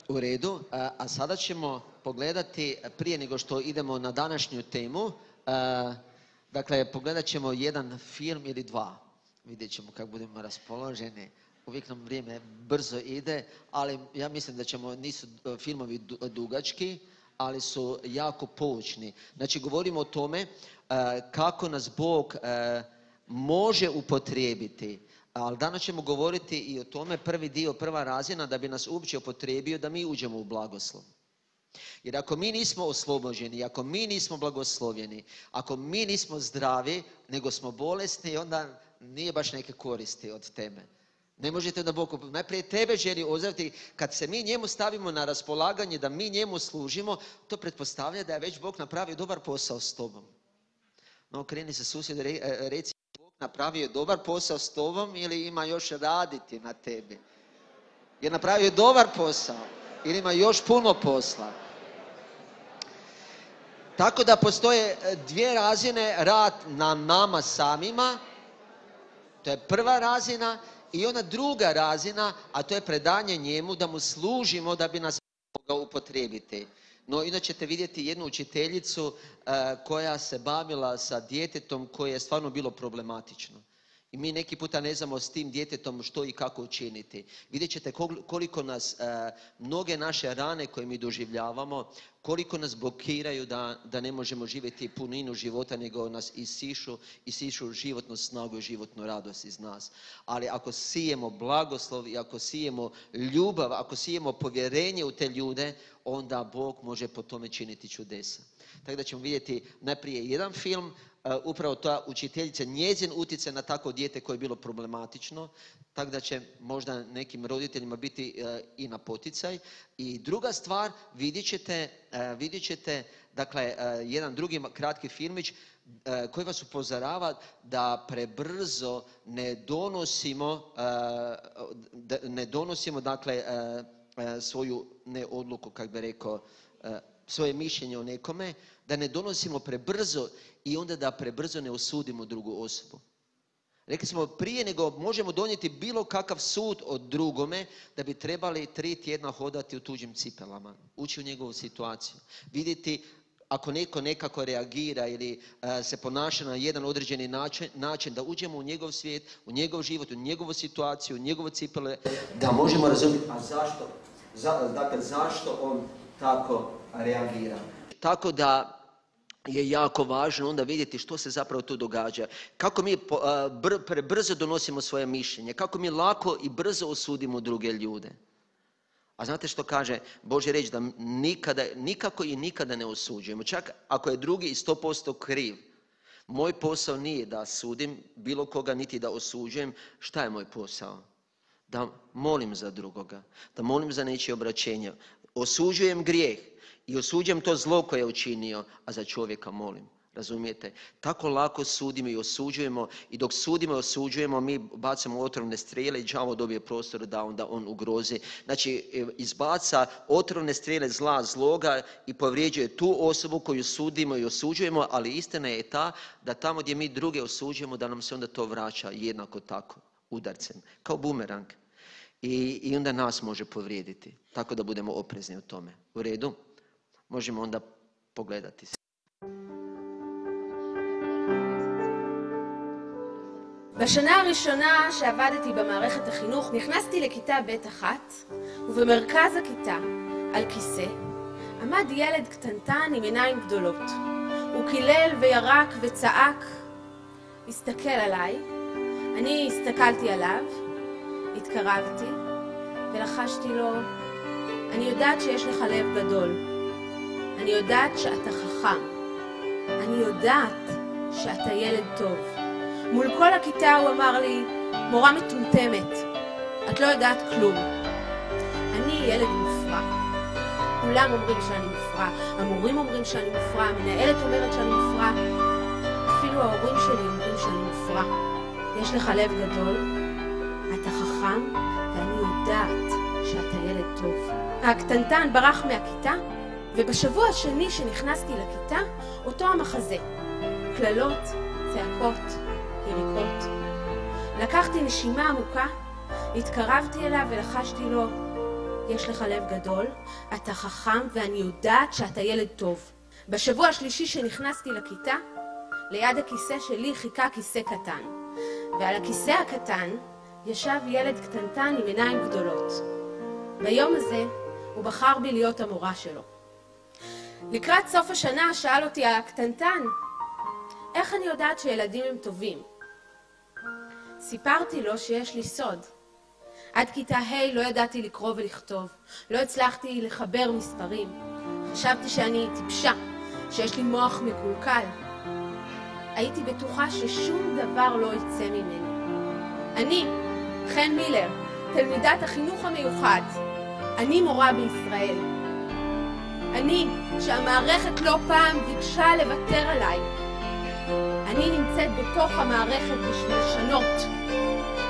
U redu, a sada ćemo pogledati, prije nego što idemo na današnju temu, dakle, pogledat ćemo jedan film ili dva. Vidjet ćemo kako budemo raspoloženi. Uvijek nam vrijeme brzo ide, ali ja mislim da nisu filmovi dugački, ali su jako poučni. Znači, govorimo o tome kako nas Bog može upotrijebiti. Ali danas ćemo govoriti i o tome, prvi dio, prva razina, da bi nas uopće upotrijebio da mi uđemo u blagoslov. Jer ako mi nismo oslobođeni, ako mi nismo blagoslovljeni, ako mi nismo zdravi, nego smo bolesni, onda nije baš neke koristi od teme. Ne možete da Bog najprije tebe želi ozdraviti. Kad se mi njemu stavimo na raspolaganje, da mi njemu služimo, to pretpostavlja da je već Bog napravio dobar posao s tobom. No, kreni se susjed, reci, Bog napravio dobar posao s tobom ili ima još raditi na tebi? Je napravio dobar posao ili ima još puno posla? Tako da postoje dvije razine, rad na nama samima, to je prva razina, i ona druga razina, a to je predanje njemu da mu služimo da bi nas mogao upotrijebiti. No, inače ćete vidjeti jednu učiteljicu koja se bavila sa djetetom koje je stvarno bilo problematično. I mi neki puta ne znamo s tim djetetom što i kako učiniti. Vidjet ćete koliko nas, mnoge naše rane koje mi doživljavamo, koliko nas blokiraju da ne možemo živjeti puninu života, nego nas isišu životnu snagu i životnu radost iz nas. Ali ako sijemo blagoslov i ako sijemo ljubav, ako sijemo povjerenje u te ljude, onda Bog može po tome činiti čudesa. Tako da ćemo vidjeti najprije jedan film, upravo ta učiteljica, njezin utjecaj na takvo dijete koje je bilo problematično, tako da će možda nekim roditeljima biti i na poticaj. I druga stvar, vidjet ćete dakle, jedan drugi kratki filmić koji vas upozorava da prebrzo ne donosimo dakle, svoju odluku, kako bi rekao, svoje mišljenje o nekome, da ne donosimo prebrzo i onda da prebrzo ne osudimo drugu osobu. Rekli smo, prije nego možemo donijeti bilo kakav sud o drugome, da bi trebali 3 tjedna hodati u tuđim cipelama, ući u njegovu situaciju, vidjeti ako neko nekako reagira ili se ponaša na jedan određeni način, da uđemo u njegov svijet, u njegov život, u njegovu situaciju, u njegove cipele, da možemo razumjeti, a zašto on tako reagira. Tako da je jako važno onda vidjeti što se zapravo tu događa. Kako mi prebrzo donosimo svoje mišljenje, kako mi lako i brzo osudimo druge ljude. A znate što kaže Božja riječ? Da nikako i nikada ne osuđujemo. Čak ako je drugi 100% kriv. Moj posao nije da sudim bilo koga, niti da osuđujem. Šta je moj posao? Da molim za drugoga, da molim za nečije obraćenje. Osuđujem grijeh i osuđujem to zlo koje je učinio, a za čovjeka molim. Razumijete? Tako lako sudimo i osuđujemo, i dok sudimo i osuđujemo, mi bacamo otrovne strijele i đavo dobije prostor da onda on ugrozi. Znači, izbaca otrovne strijele zloga i povrijeđuje tu osobu koju sudimo i osuđujemo, ali istina je ta da tamo gdje mi druge osuđujemo, da nam se onda to vraća jednako tako, udarcem, kao bumerang. I onda nas može povrijediti. Tako da budemo oprezni u tome. U redu? Možemo onda pogledati. בשנה הראשונה שעבדתי במערכת החינוך נכנסתי לכיתה ב' אחת, ובמרכז הכיתה, על כיסא, עמד ילד קטנטן עם עיניים גדולות. הוא קילל וירק וצעק, הסתכל עליי, אני הסתכלתי עליו, התקרבתי ולחשתי לו, אני יודעת שיש לך לב גדול, אני יודעת שאתה חכם, אני יודעת שאתה ילד טוב. מול כל הכיתה הוא אמר לי, מורה מטומטמת, את לא יודעת כלום. אני ילד מופרע. כולם אומרים שאני מופרע, המורים אומרים שאני מופרע, המנהלת אומרת שאני מופרע, אפילו ההורים שלי אומרים שאני מופרע. יש לך לב גדול, אתה חכם, ואני יודעת שאתה ילד טוב. הקטנטן ברח מהכיתה, ובשבוע השני שנכנסתי לכיתה, אותו המחזה. קללות, צעקות, יריקות. לקחתי נשימה עמוקה, התקרבתי אליו ולחשתי לו, יש לך לב גדול, אתה חכם ואני יודעת שאתה ילד טוב. בשבוע השלישי שנכנסתי לכיתה, ליד הכיסא שלי חיכה כיסא קטן. ועל הכיסא הקטן ישב ילד קטנטן עם עיניים גדולות. ביום הזה הוא בחר בי להיות המורה שלו. לקראת סוף השנה שאל אותי הקטנטן, איך אני יודעת שילדים הם טובים? סיפרתי לו שיש לי סוד. עד כיתה ה' לא ידעתי לקרוא ולכתוב, לא הצלחתי לחבר מספרים. חשבתי שאני טיפשה, שיש לי מוח מקולקל. הייתי בטוחה ששום דבר לא יצא ממני. אני, חן מילר, תלמידת החינוך המיוחד. אני מורה בישראל. אני, שהמערכת לא פעם ביקשה לוותר עליי. אני נמצאת בתוך המערכת בשביל לשנות,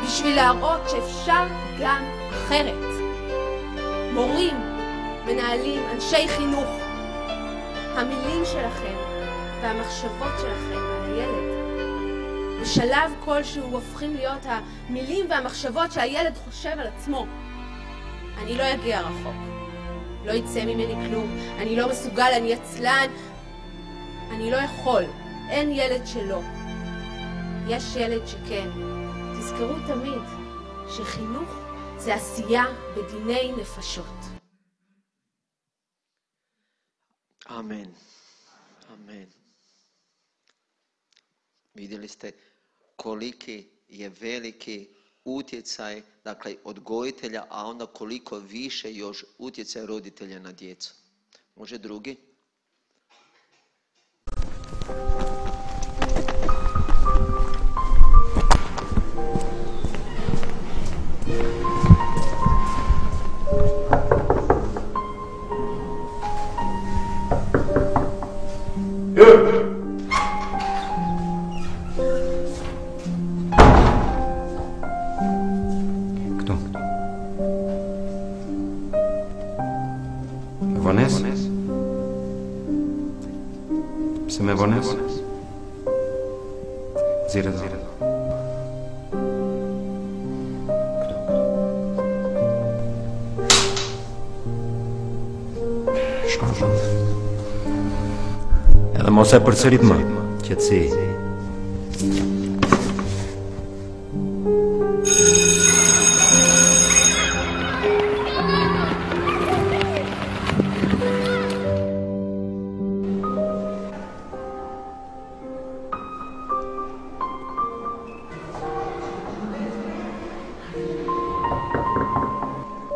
בשביל להראות שאפשר גם אחרת. מורים, מנהלים, אנשי חינוך, המילים שלכם והמחשבות שלכם על הילד, בשלב כלשהו הופכים להיות המילים והמחשבות שהילד חושב על עצמו. אני לא אגיע רחוק, לא יצא ממני כלום, אני לא מסוגל, אני עצלן, אני לא יכול, אין ילד שלא. יש ילד שכן. תזכרו תמיד שחינוך זה עשייה בדיני נפשות. Amen. Amen. Vidjeli ste koliki je veliki utjecaj, dakle, odgojitelja, a onda koliko više još utjecaj roditelja na djecu. Može drugi? Se me pones? Zira. Shkon. Edhe mos e përsërit më, qetësi.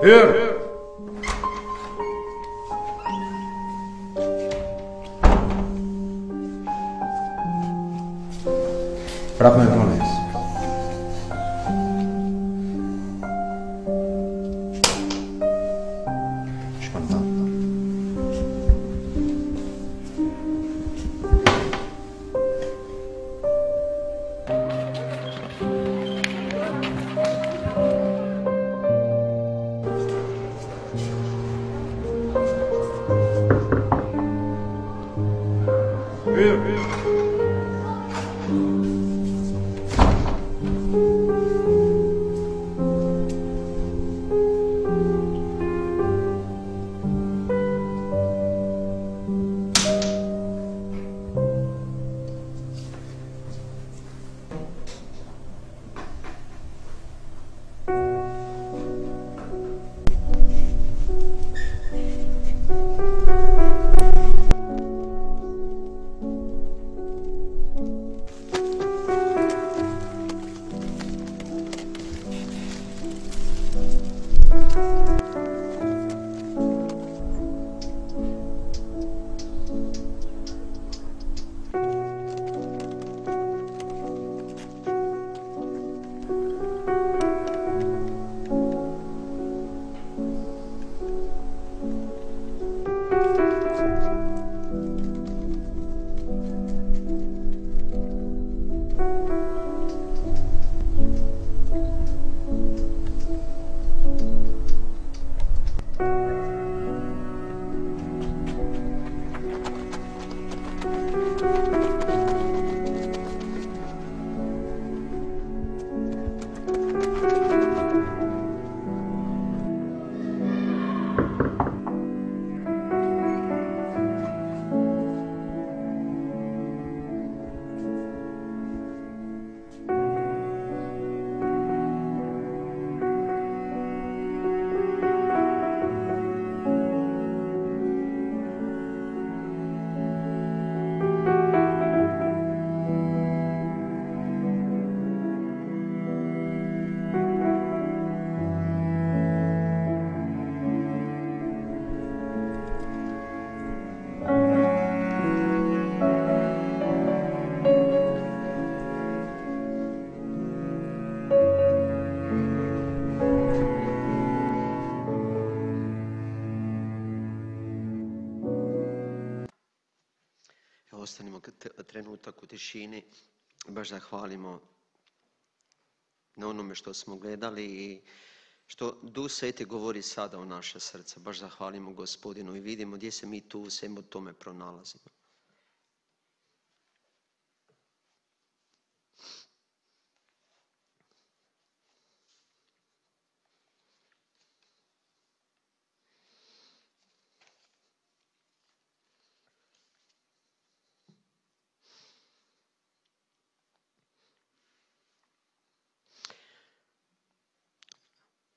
Hier! Prap me vones. Shkon ta. ostanimo trenutak u tišini, baš zahvalimo na onome što smo gledali i što Duh Sveti govori sada u naše srce. Baš zahvalimo Gospodinu i vidimo gdje se mi tu u svemu tome pronalazimo.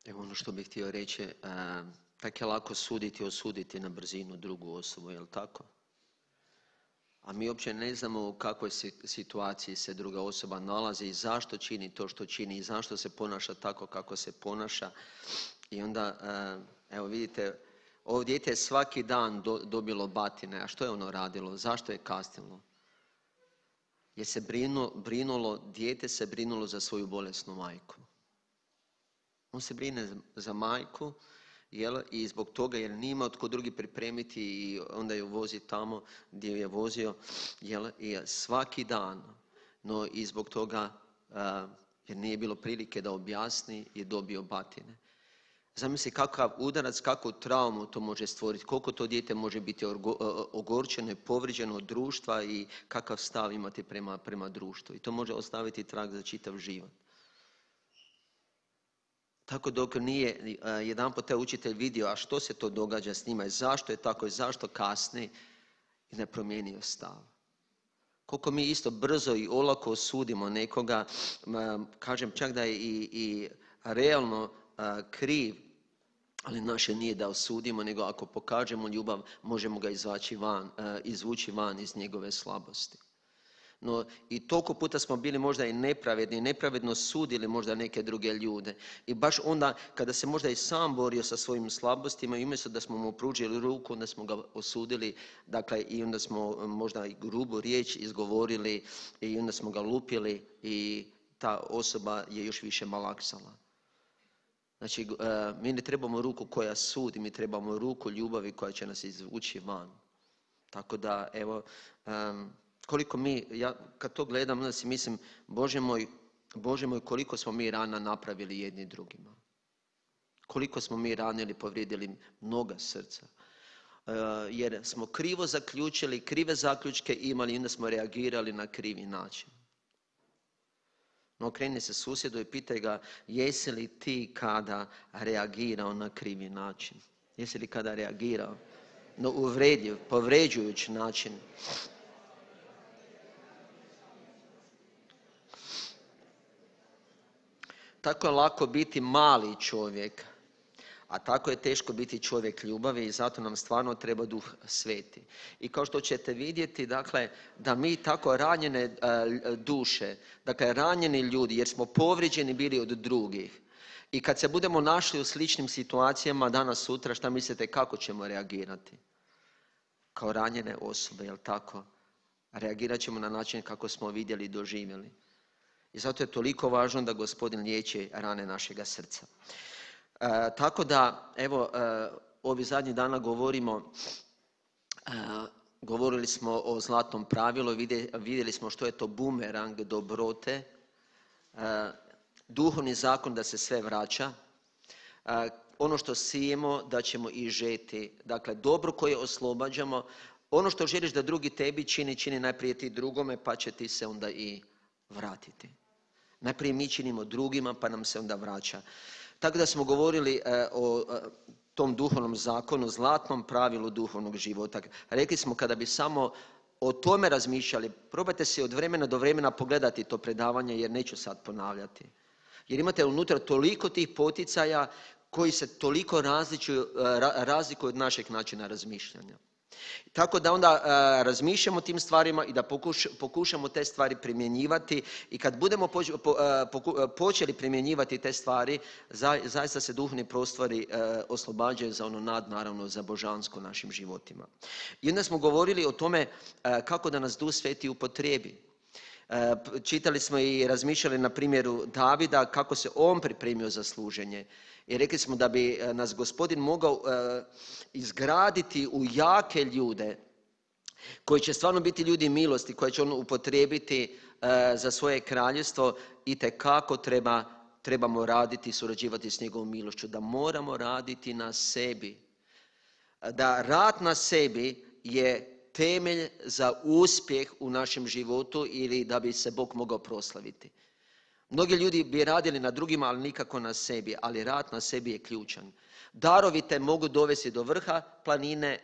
Evo ono što bih htio reći, tako je lako suditi i osuditi na brzinu drugu osobu, je li tako? A mi uopće ne znamo u kakvoj situaciji se druga osoba nalazi i zašto čini to što čini i zašto se ponaša tako kako se ponaša. I onda, evo vidite, ovo dijete je svaki dan dobilo batine. A što je ono radilo? Zašto je kasnilo? Jer se dijete se brinulo za svoju bolesnu majku. On se brine za majku i zbog toga jer nije imao tko drugi pripremiti i onda ju vozi tamo gdje ju je vozio i svaki dan. No i zbog toga jer nije bilo prilike da objasni je dobio batine. Zamisli kakav udarac, kakvu traumu to može stvoriti, koliko to dijete može biti ogorčeno i povrijeđeno od društva i kakav stav imati prema društvu. I to može ostaviti trag za čitav život. Tako dok nije jedanput taj učitelj vidio, a što se to događa s njima i zašto je tako i zašto kasni, i ne promijenio stav. Koliko mi isto brzo i olako osudimo nekoga, kažem čak da je i realno kriv, ali naše nije da osudimo, nego ako pokažemo ljubav, možemo ga izvući van iz njegove slabosti. No i toliko puta smo bili možda i nepravedni, nepravedno sudili možda neke druge ljude. I baš onda kada se možda i sam borio sa svojim slabostima i umjesto da smo mu pružili ruku, onda smo ga osudili, dakle i onda smo možda i grubu riječ izgovorili i onda smo ga lupili i ta osoba je još više malaksala. Znači, mi ne trebamo ruku koja sudi, mi trebamo ruku ljubavi koja će nas izvući van. Tako da, evo, koliko ja kad to gledam, onda si mislim, Bože moj, koliko smo mi rana napravili jedni drugima. Koliko smo mi ranili, povrijedili mnoga srca. Jer smo krivo zaključili, krive zaključke imali i onda smo reagirali na krivi način. No okreni se susjedu i pitaj ga, jesi li ti kada reagirao na krivi način? Jesi li kada reagirao na uvredljiv, povređujući način? Tako je lako biti mali čovjek, a tako je teško biti čovjek ljubavi i zato nam stvarno treba Duh Sveti. I kao što ćete vidjeti, dakle, da mi tako ranjene duše, dakle ranjeni ljudi, jer smo povrijeđeni bili od drugih. I kad se budemo našli u sličnim situacijama danas, sutra, šta mislite kako ćemo reagirati? Kao ranjene osobe, jel tako? Reagirat ćemo na način kako smo vidjeli i doživjeli. I zato je toliko važno da Gospodin liječi rane našega srca. Tako da, evo, ovih zadnjih dana govorili smo o zlatnom pravilu, vidjeli smo što je to bumerang dobrote, duhovni zakon da se sve vraća, ono što sijemo da ćemo i žeti, dakle dobro koje oslobađamo, ono što želiš da drugi tebi čini najprije ti drugome pa će ti se onda i vratiti. Najprije mi činimo drugima pa nam se onda vraća. Tako da smo govorili o tom duhovnom zakonu, zlatnom pravilu duhovnog života. Rekli smo kada bi samo o tome razmišljali, probajte si od vremena do vremena pogledati to predavanje jer neću sad ponavljati. Jer imate unutra toliko tih poticaja koji se toliko razlikuju od našeg načina razmišljanja. Tako da onda razmišljamo o tim stvarima i da pokušamo te stvari primjenjivati i kad budemo počeli primjenjivati te stvari, zaista se duhovni prostori oslobađaju za ono nadnaravno, za božansko našim životima. I onda smo govorili o tome kako da nas Duh Sveti upotrijebi. Čitali smo i razmišljali na primjeru Davida kako se on pripremio za služenje. I rekli smo da bi nas Gospodin mogao izgraditi u jake ljude koji će stvarno biti ljudi milosti, koje će on upotrijebiti za svoje kraljevstvo, itekako trebamo raditi i surađivati s njegovom milošću, da moramo raditi na sebi. Da rad na sebi je temelj za uspjeh u našem životu ili da bi se Bog mogao proslaviti. Mnogi ljudi bi radili na drugima, ali nikako na sebi, ali rad na sebi je ključan. Darovi te mogu dovesti do vrha planine,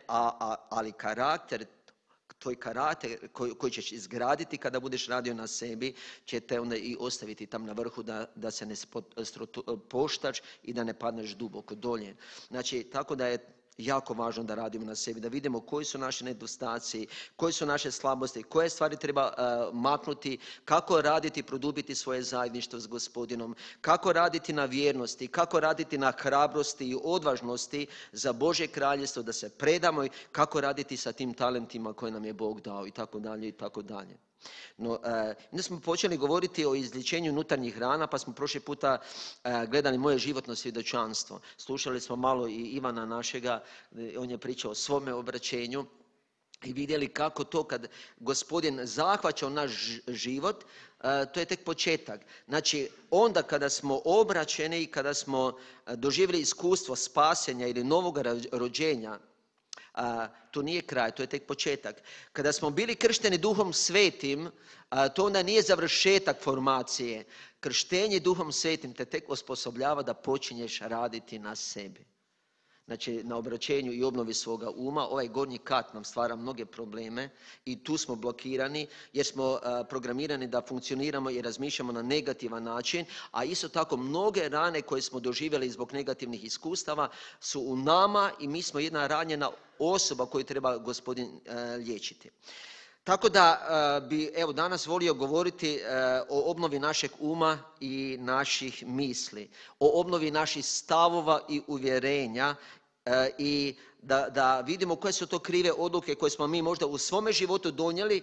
ali karakter, tvoj karakter koji ćeš izgraditi kada budeš radio na sebi, će te onda i ostaviti tam na vrhu da se ne poštaš i da ne padneš duboko dolje. Znači, tako da je jako važno da radimo na sebi, da vidimo koji su naši nedostaci, koje su naše slabosti, koje stvari treba maknuti, kako raditi, produbiti svoje zajedništvo s Gospodinom, kako raditi na vjernosti, kako raditi na hrabrosti i odvažnosti za Božje kraljevstvo, da se predamo i kako raditi sa tim talentima koje nam je Bog dao i tako dalje i tako dalje. No, onda smo počeli govoriti o izlječenju unutarnjih rana, pa smo prošli puta gledali moje životno svjedočanstvo. Slušali smo malo i Ivana našega, on je pričao o svome obraćenju i vidjeli kako to kad Gospodin zahvaća u naš život, to je tek početak. Znači, onda kada smo obraćeni i kada smo doživjeli iskustvo spasenja ili novog rođenja, to nije kraj, to je tek početak. Kada smo bili kršteni Duhom Svetim, to onda nije završetak formacije. Krštenje Duhom Svetim te tek osposobljava da počinješ raditi na sebi. Znači, na obraćenju i obnovi svoga uma. Ovaj gornji kat nam stvara mnoge probleme i tu smo blokirani jer smo programirani da funkcioniramo i razmišljamo na negativan način, a isto tako mnoge rane koje smo doživjeli zbog negativnih iskustava su u nama i mi smo jedna ranjena osoba koju treba Gospodin liječiti. Tako da bi danas volio govoriti o obnovi našeg uma i naših misli, o obnovi naših stavova i uvjerenja i da vidimo koje su to krive odluke koje smo mi možda u svome životu donijeli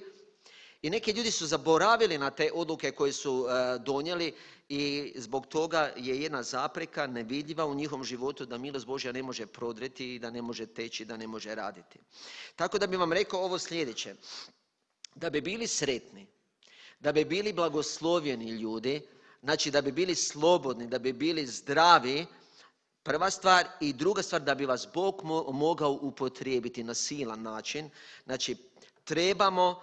i neki ljudi su zaboravili na te odluke koje su donijeli i zbog toga je jedna zapreka nevidljiva u njihovom životu da milost Božja ne može prodreti i da ne može teći, da ne može raditi. Tako da bi vam rekao ovo sljedeće. Da bi bili sretni, da bi bili blagoslovljeni ljudi, znači da bi bili slobodni, da bi bili zdravi, prva stvar i druga stvar da bi vas Bog mogao upotrijebiti na silan način, znači trebamo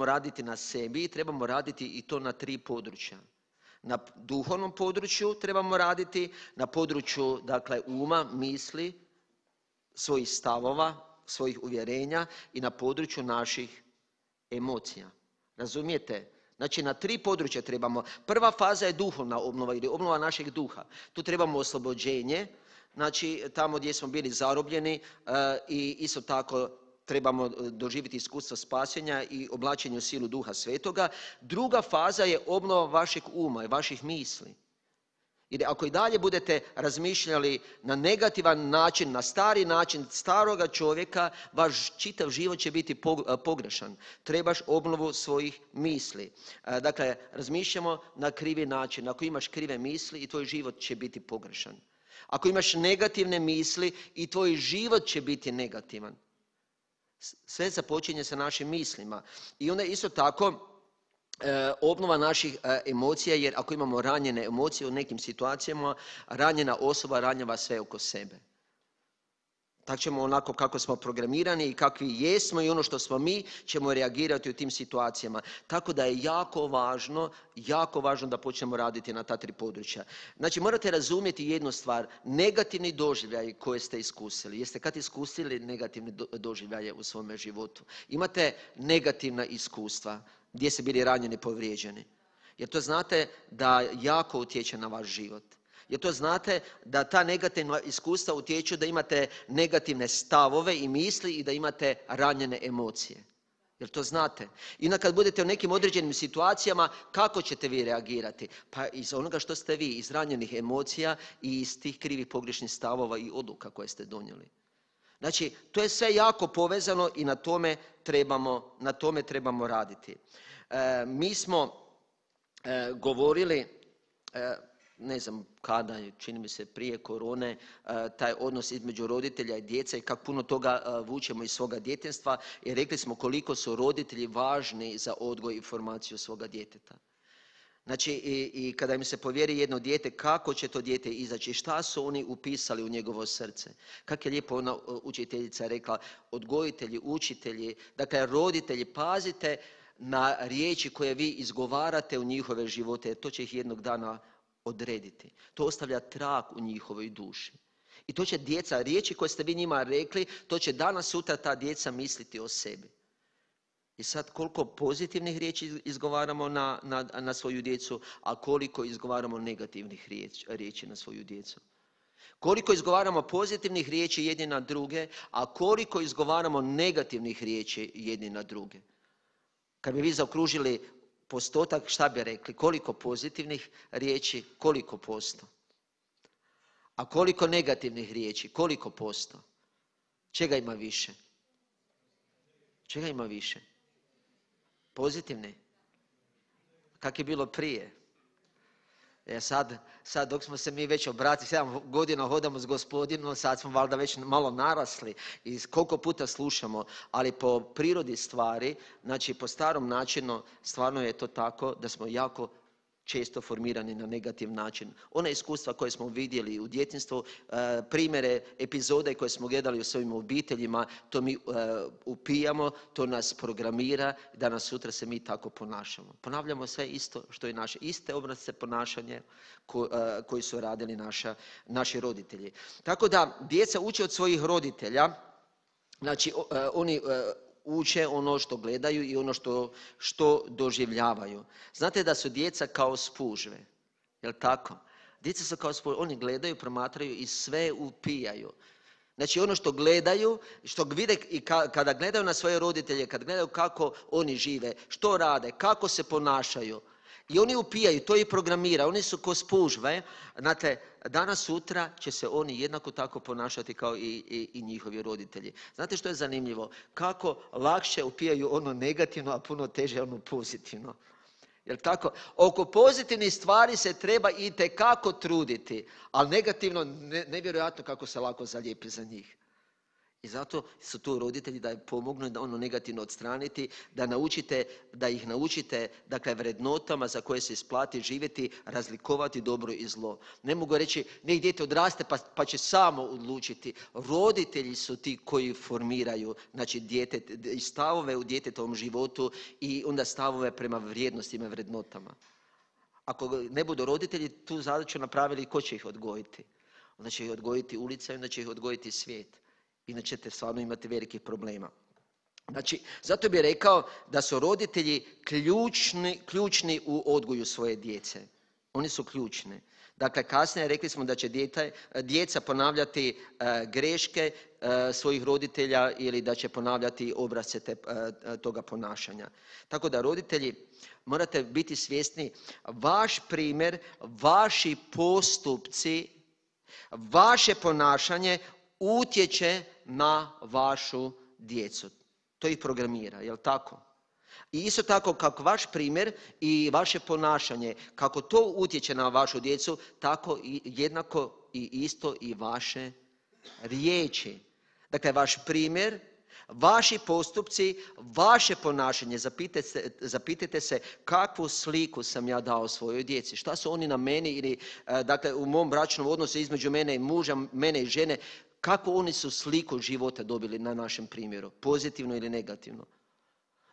raditi na sebi, trebamo raditi i to na 3 područja. Na duhovnom području trebamo raditi, na području dakle uma, misli, svojih stavova, svojih uvjerenja i na području naših emocija. Razumijete? Znači na 3 područja trebamo. Prva faza je duhovna obnova ili obnova našeg duha. Tu trebamo oslobođenje, znači tamo gdje smo bili zarobljeni i isto tako trebamo doživjeti iskustvo spasenja i oblačenje u silu Duha Svetoga. Druga faza je obnova vašeg uma i vaših misli. Jer ako i dalje budete razmišljali na negativan način, na stari način staroga čovjeka, vaš čitav život će biti pogrešan. Trebaš obnovu svojih misli. Dakle, razmišljamo na krivi način. Ako imaš krive misli i tvoj život će biti pogrešan. Ako imaš negativne misli i tvoj život će biti negativan. Sve započinje sa našim mislima. I onda isto tako obnova naših emocija, jer ako imamo ranjene emocije u nekim situacijama, ranjena osoba ranjava sve oko sebe. Tako ćemo onako kako smo programirani i kakvi jesmo i ono što smo mi ćemo reagirati u tim situacijama. Tako da je jako važno da počnemo raditi na ta 3 područja. Znači morate razumjeti jednu stvar, negativni doživljaj koje ste iskusili. Jeste kad iskusili negativne doživljaje u svome životu? Imate negativna iskustva gdje ste bili ranjeni, povrijeđeni. Jer to znate da jako utječe na vaš život. Jer to znate da ta negativna iskustva utječu da imate negativne stavove i misli i da imate ranjene emocije. Jer to znate. I onda kad budete u nekim određenim situacijama, kako ćete vi reagirati? Pa iz onoga što ste vi, iz ranjenih emocija i iz tih krivih pogrešnih stavova i odluka koje ste donijeli. Znači, to je sve jako povezano i na tome trebamo raditi. Mi smo govorili ne znam kada, čini mi se prije korone, taj odnos između roditelja i djece i kako puno toga vučemo iz svoga djetinjstva i rekli smo koliko su roditelji važni za odgoj i formaciju svoga djeteta. Znači i kada im se povjeri jedno dijete, kako će to dijete izaći, šta su oni upisali u njegovo srce. Kako je lijepo ona učiteljica rekla, odgojitelji, učitelji, dakle roditelji, pazite na riječi koje vi izgovarate u njihove živote, jer to će ih jednog dana odrediti. To ostavlja trag u njihovoj duši. I to će djeca, riječi koje ste vi njima rekli, to će danas sutra ta djeca misliti o sebi. I sad koliko pozitivnih riječi izgovaramo na svoju djecu, a koliko izgovaramo negativnih riječi na svoju djecu. Koliko izgovaramo pozitivnih riječi jedni na druge, a koliko izgovaramo negativnih riječi jedni na druge. Kad bi vi zaokružili postotak, šta bi rekli? Koliko pozitivnih riječi, koliko posto? A koliko negativnih riječi, koliko posto? Čega ima više? Čega ima više? Pozitivne. Kak je bilo prije? Sad dok smo se mi već obratili, 7 godina hodamo s Gospodinom, sad smo valjda već malo narasli i koliko puta slušamo, ali po prirodi stvari, znači po starom načinu, stvarno je to tako da smo jako često formirani na negativ način. Ona iskustva koje smo vidjeli u djetinjstvu, primjere, epizode koje smo gledali u svojim obiteljima, to mi upijamo, to nas programira, danas sutra se mi tako ponašamo. Ponavljamo sve isto što je naše, iste obrasce ponašanje koji su radili naši roditelji. Tako da djeca uče od svojih roditelja, znači oni uče ono što gledaju i ono što doživljavaju. Znate da su djeca kao spužve, jel tako? Djeca su kao spužve, oni gledaju, promatraju i sve upijaju. Znači ono što gledaju, što vide i kada gledaju na svoje roditelje, kada gledaju kako oni žive, što rade, kako se ponašaju. I oni upijaju, to ih programira, oni su ko spužve. Znate, danas sutra će se oni jednako tako ponašati kao i njihovi roditelji. Znate što je zanimljivo? Kako lakše upijaju ono negativno, a puno teže ono pozitivno. Jel tako? Oko pozitivnih stvari se treba itekako truditi, ali negativno nevjerojatno kako se lako zalijepi za njih. I zato su tu roditelji da pomognu da ono negativno odstraniti, da ih naučite dakle, vrednotama za koje se isplati živjeti, razlikovati dobro i zlo. Ne mogu reći, nek dijete odraste pa će samo odlučiti. Roditelji su ti koji formiraju znači, stavove u djetetovom životu i onda stavove prema vrijednostima i vrednotama. Ako ne budu roditelji tu zadaću napravili, ko će ih odgojiti? Onda će ih odgojiti ulica i onda će ih odgojiti svijet. Inače ćete stvarno imati velikih problema. Znači, zato bih rekao da su roditelji ključni u odgoju svoje djece. Oni su ključni. Dakle, kasnije rekli smo da će djeca ponavljati greške svojih roditelja ili da će ponavljati obrasce toga ponašanja. Tako da roditelji morate biti svjesni, vaš primjer, vaši postupci, vaše ponašanje utječe na vašu djecu. To ih programira, jel tako? I isto tako kako vaš primjer i vaše ponašanje, kako to utječe na vašu djecu, tako i jednako i isto i vaše riječi. Dakle, vaš primjer, vaši postupci, vaše ponašanje, zapitajte se kakvu sliku sam ja dao svojoj djeci. Šta su oni na meni ili dakle, u mom bračnom odnosu između mene i muža, mene i žene, kako oni su sliku života dobili na našem primjeru, pozitivno ili negativno.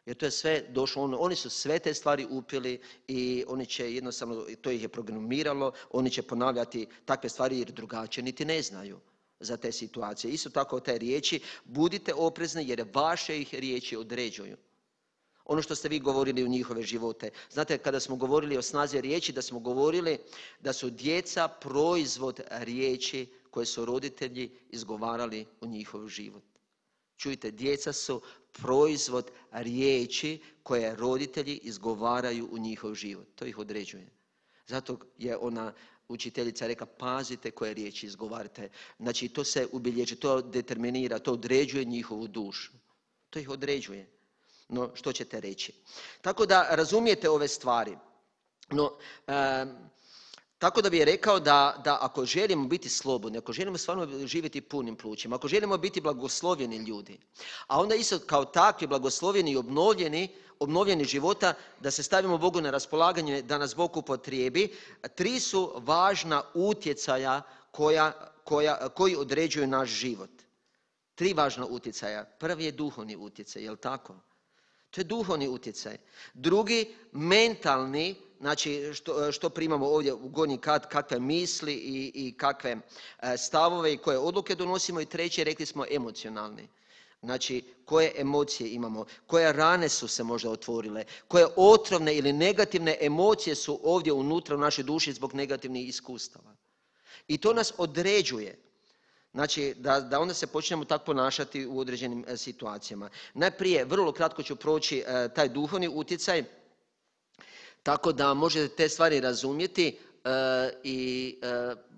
Jer to je sve došlo, oni su sve te stvari upili i oni će jednostavno, to ih je programiralo, oni će ponavljati takve stvari jer drugačije niti ne znaju za te situacije. Isto tako te riječi, budite oprezni jer vaše ih riječi određuju. Ono što ste vi govorili u njihove živote. Znate, kada smo govorili o snazi riječi, da smo govorili da su djeca proizvod riječi koje su roditelji izgovarali u njihov život. Čujte, djeca su proizvod riječi koje roditelji izgovaraju u njihov život. To ih određuje. Zato je ona učiteljica rekla, pazite koje riječi izgovarate. Znači, to se ubilježi, to determinira, to određuje njihovu dušu. To ih određuje. No, što ćete reći? Tako da razumijete ove stvari. No, Tako da bih rekao da ako želimo biti slobodni, ako želimo stvarno živjeti punim plućima, ako želimo biti blagoslovljeni ljudi, a onda isto kao takvi blagoslovljeni i obnovljeni života, da se stavimo Bogu na raspolaganje, da nas Bog upotrijebi, 3 su važna utjecaja koji određuju naš život. 3 važna utjecaja. Prvi je duhovni utjecaj, je li tako? To je duhovni utjecaj. Drugi, mentalni, znači što primamo ovdje u gornji kat, kakve misli i kakve stavove i koje odluke donosimo. I treći, rekli smo, emocionalni. Znači, koje emocije imamo, koje rane su se možda otvorile, koje otrovne ili negativne emocije su ovdje unutra u našoj duši zbog negativnih iskustava. I to nas određuje. Znači, da onda se počnemo tako ponašati u određenim situacijama. Najprije, vrlo kratko ću proći taj duhovni utjecaj, tako da možete te stvari razumjeti i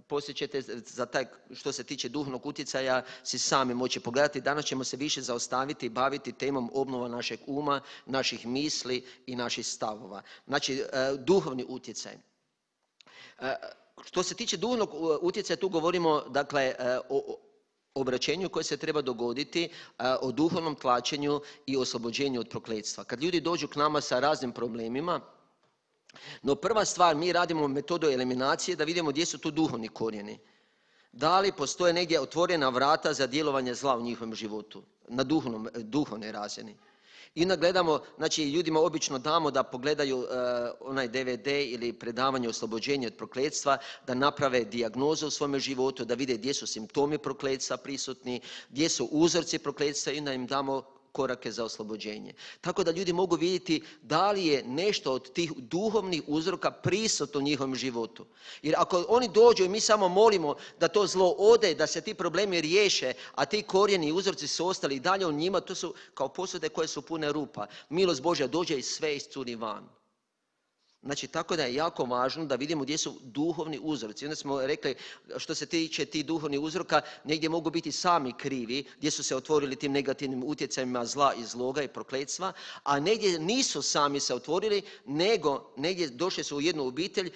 poslije ćete za taj, što se tiče duhovnog utjecaja, si sami moći pogledati. Danas ćemo se više zaostaviti i baviti temom obnova našeg uma, naših misli i naših stavova. Znači, duhovni utjecaj. Što se tiče duhovnog utjecaja, tu govorimo dakle o obraćenju koje se treba dogoditi, o duhovnom tlačenju i oslobođenju od prokletstva. Kad ljudi dođu k nama sa raznim problemima, no prva stvar, mi radimo metodu eliminacije da vidimo gdje su tu duhovni korijeni. Da li postoje negdje otvorena vrata za djelovanje zla u njihovom životu, na duhovnoj razini. I onda gledamo, znači ljudima obično damo da pogledaju onaj DVD ili predavanje oslobođenja od prokletstva, da naprave dijagnozu u svome životu, da vide gdje su simptomi prokletstva prisutni, gdje su uzorci prokletstva i onda im damo korake za oslobođenje. Tako da ljudi mogu vidjeti da li je nešto od tih duhovnih uzroka prisutno u njihovom životu. Jer ako oni dođu i mi samo molimo da to zlo ode, da se ti problemi riješe, a ti korijeni i uzroci su ostali i dalje u njima, to su kao posude koje su pune rupa. Milost Božja dođe i sve iscuri van. Znači, tako da je jako važno da vidimo gdje su duhovni uzroci. Onda smo rekli, što se tiče tih duhovnih uzroka, negdje mogu biti sami krivi, gdje su se otvorili tim negativnim utjecajima zla i zloga i prokletstva, a negdje nisu sami se otvorili, nego negdje došli su u jednu obitelj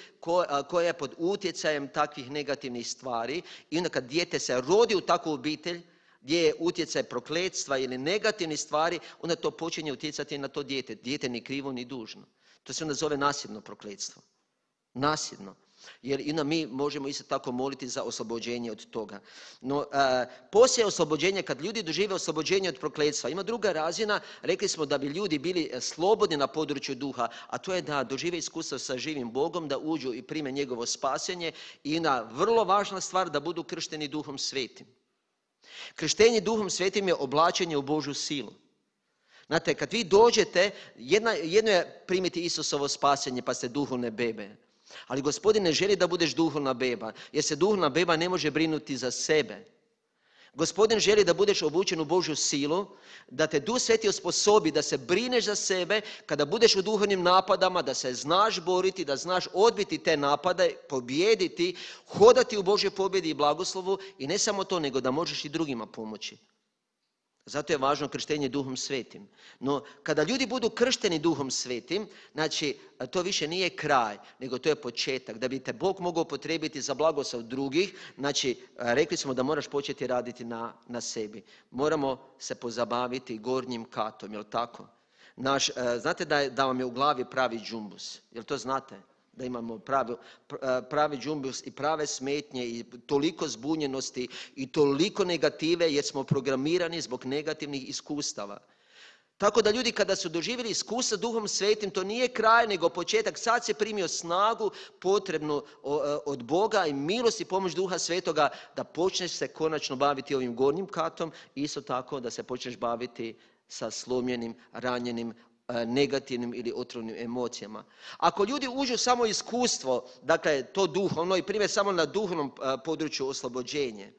koja je pod utjecajem takvih negativnih stvari. I onda kad dijete se rodi u takvu obitelj, gdje je utjecaj prokletstva ili negativnih stvari, onda to počinje utjecati na to dijete. Dijete ni krivo ni dužno. To se onda zove nasljedno prokletstvo. Nasljedno. Jer i mi možemo isto tako moliti za oslobođenje od toga. No, poslije oslobođenja, kad ljudi dožive oslobođenje od prokletstva, ima druga razina, rekli smo da bi ljudi bili slobodni na području duha, a to je da dožive iskustvo sa živim Bogom, da uđu i prime njegovo spasenje i na vrlo važna stvar da budu kršteni Duhom Svetim. Krštenje Duhom Svetim je oblačenje u Božju silu. Znate, kad vi dođete, jedno je primiti Isusovo spasenje pa ste duhovne bebe. Ali Gospodin ne želi da budeš duhovna beba, jer se duhovna beba ne može brinuti za sebe. Gospodin želi da budeš obučen u Božju silu, da te Duh Sveti osposobi da se brineš za sebe, kada budeš u duhovnim napadama, da se znaš boriti, da znaš odbiti te napade, pobijediti, hodati u Božjoj pobjedi i blagoslovu i ne samo to, nego da možeš i drugima pomoći. Zato je važno krštenje Duhom Svetim. No, kada ljudi budu kršteni Duhom Svetim, znači, to više nije kraj, nego to je početak. Da bi te Bog mogao potrebiti za blagoslov drugih, znači, rekli smo da moraš početi raditi na sebi. Moramo se pozabaviti gornjim katom, jel tako? Znate da vam je u glavi pravi džumbus, jel to znate? Da imamo pravi džumbus i prave smetnje i toliko zbunjenosti i toliko negative jer smo programirani zbog negativnih iskustava. Tako da ljudi kada su doživjeli iskustva Duhom Svetim, to nije kraj nego početak. Sad se primio snagu potrebnu od Boga i milost i pomoć Duha Svetoga da počneš se konačno baviti ovim gornjim katom i isto tako da se počneš baviti sa slomljenim, ranjenim, negativnim ili otrovnim emocijama. Ako ljudi uđu samo iskustvo, dakle to duhovno i prime samo na duhovnom području oslobođenje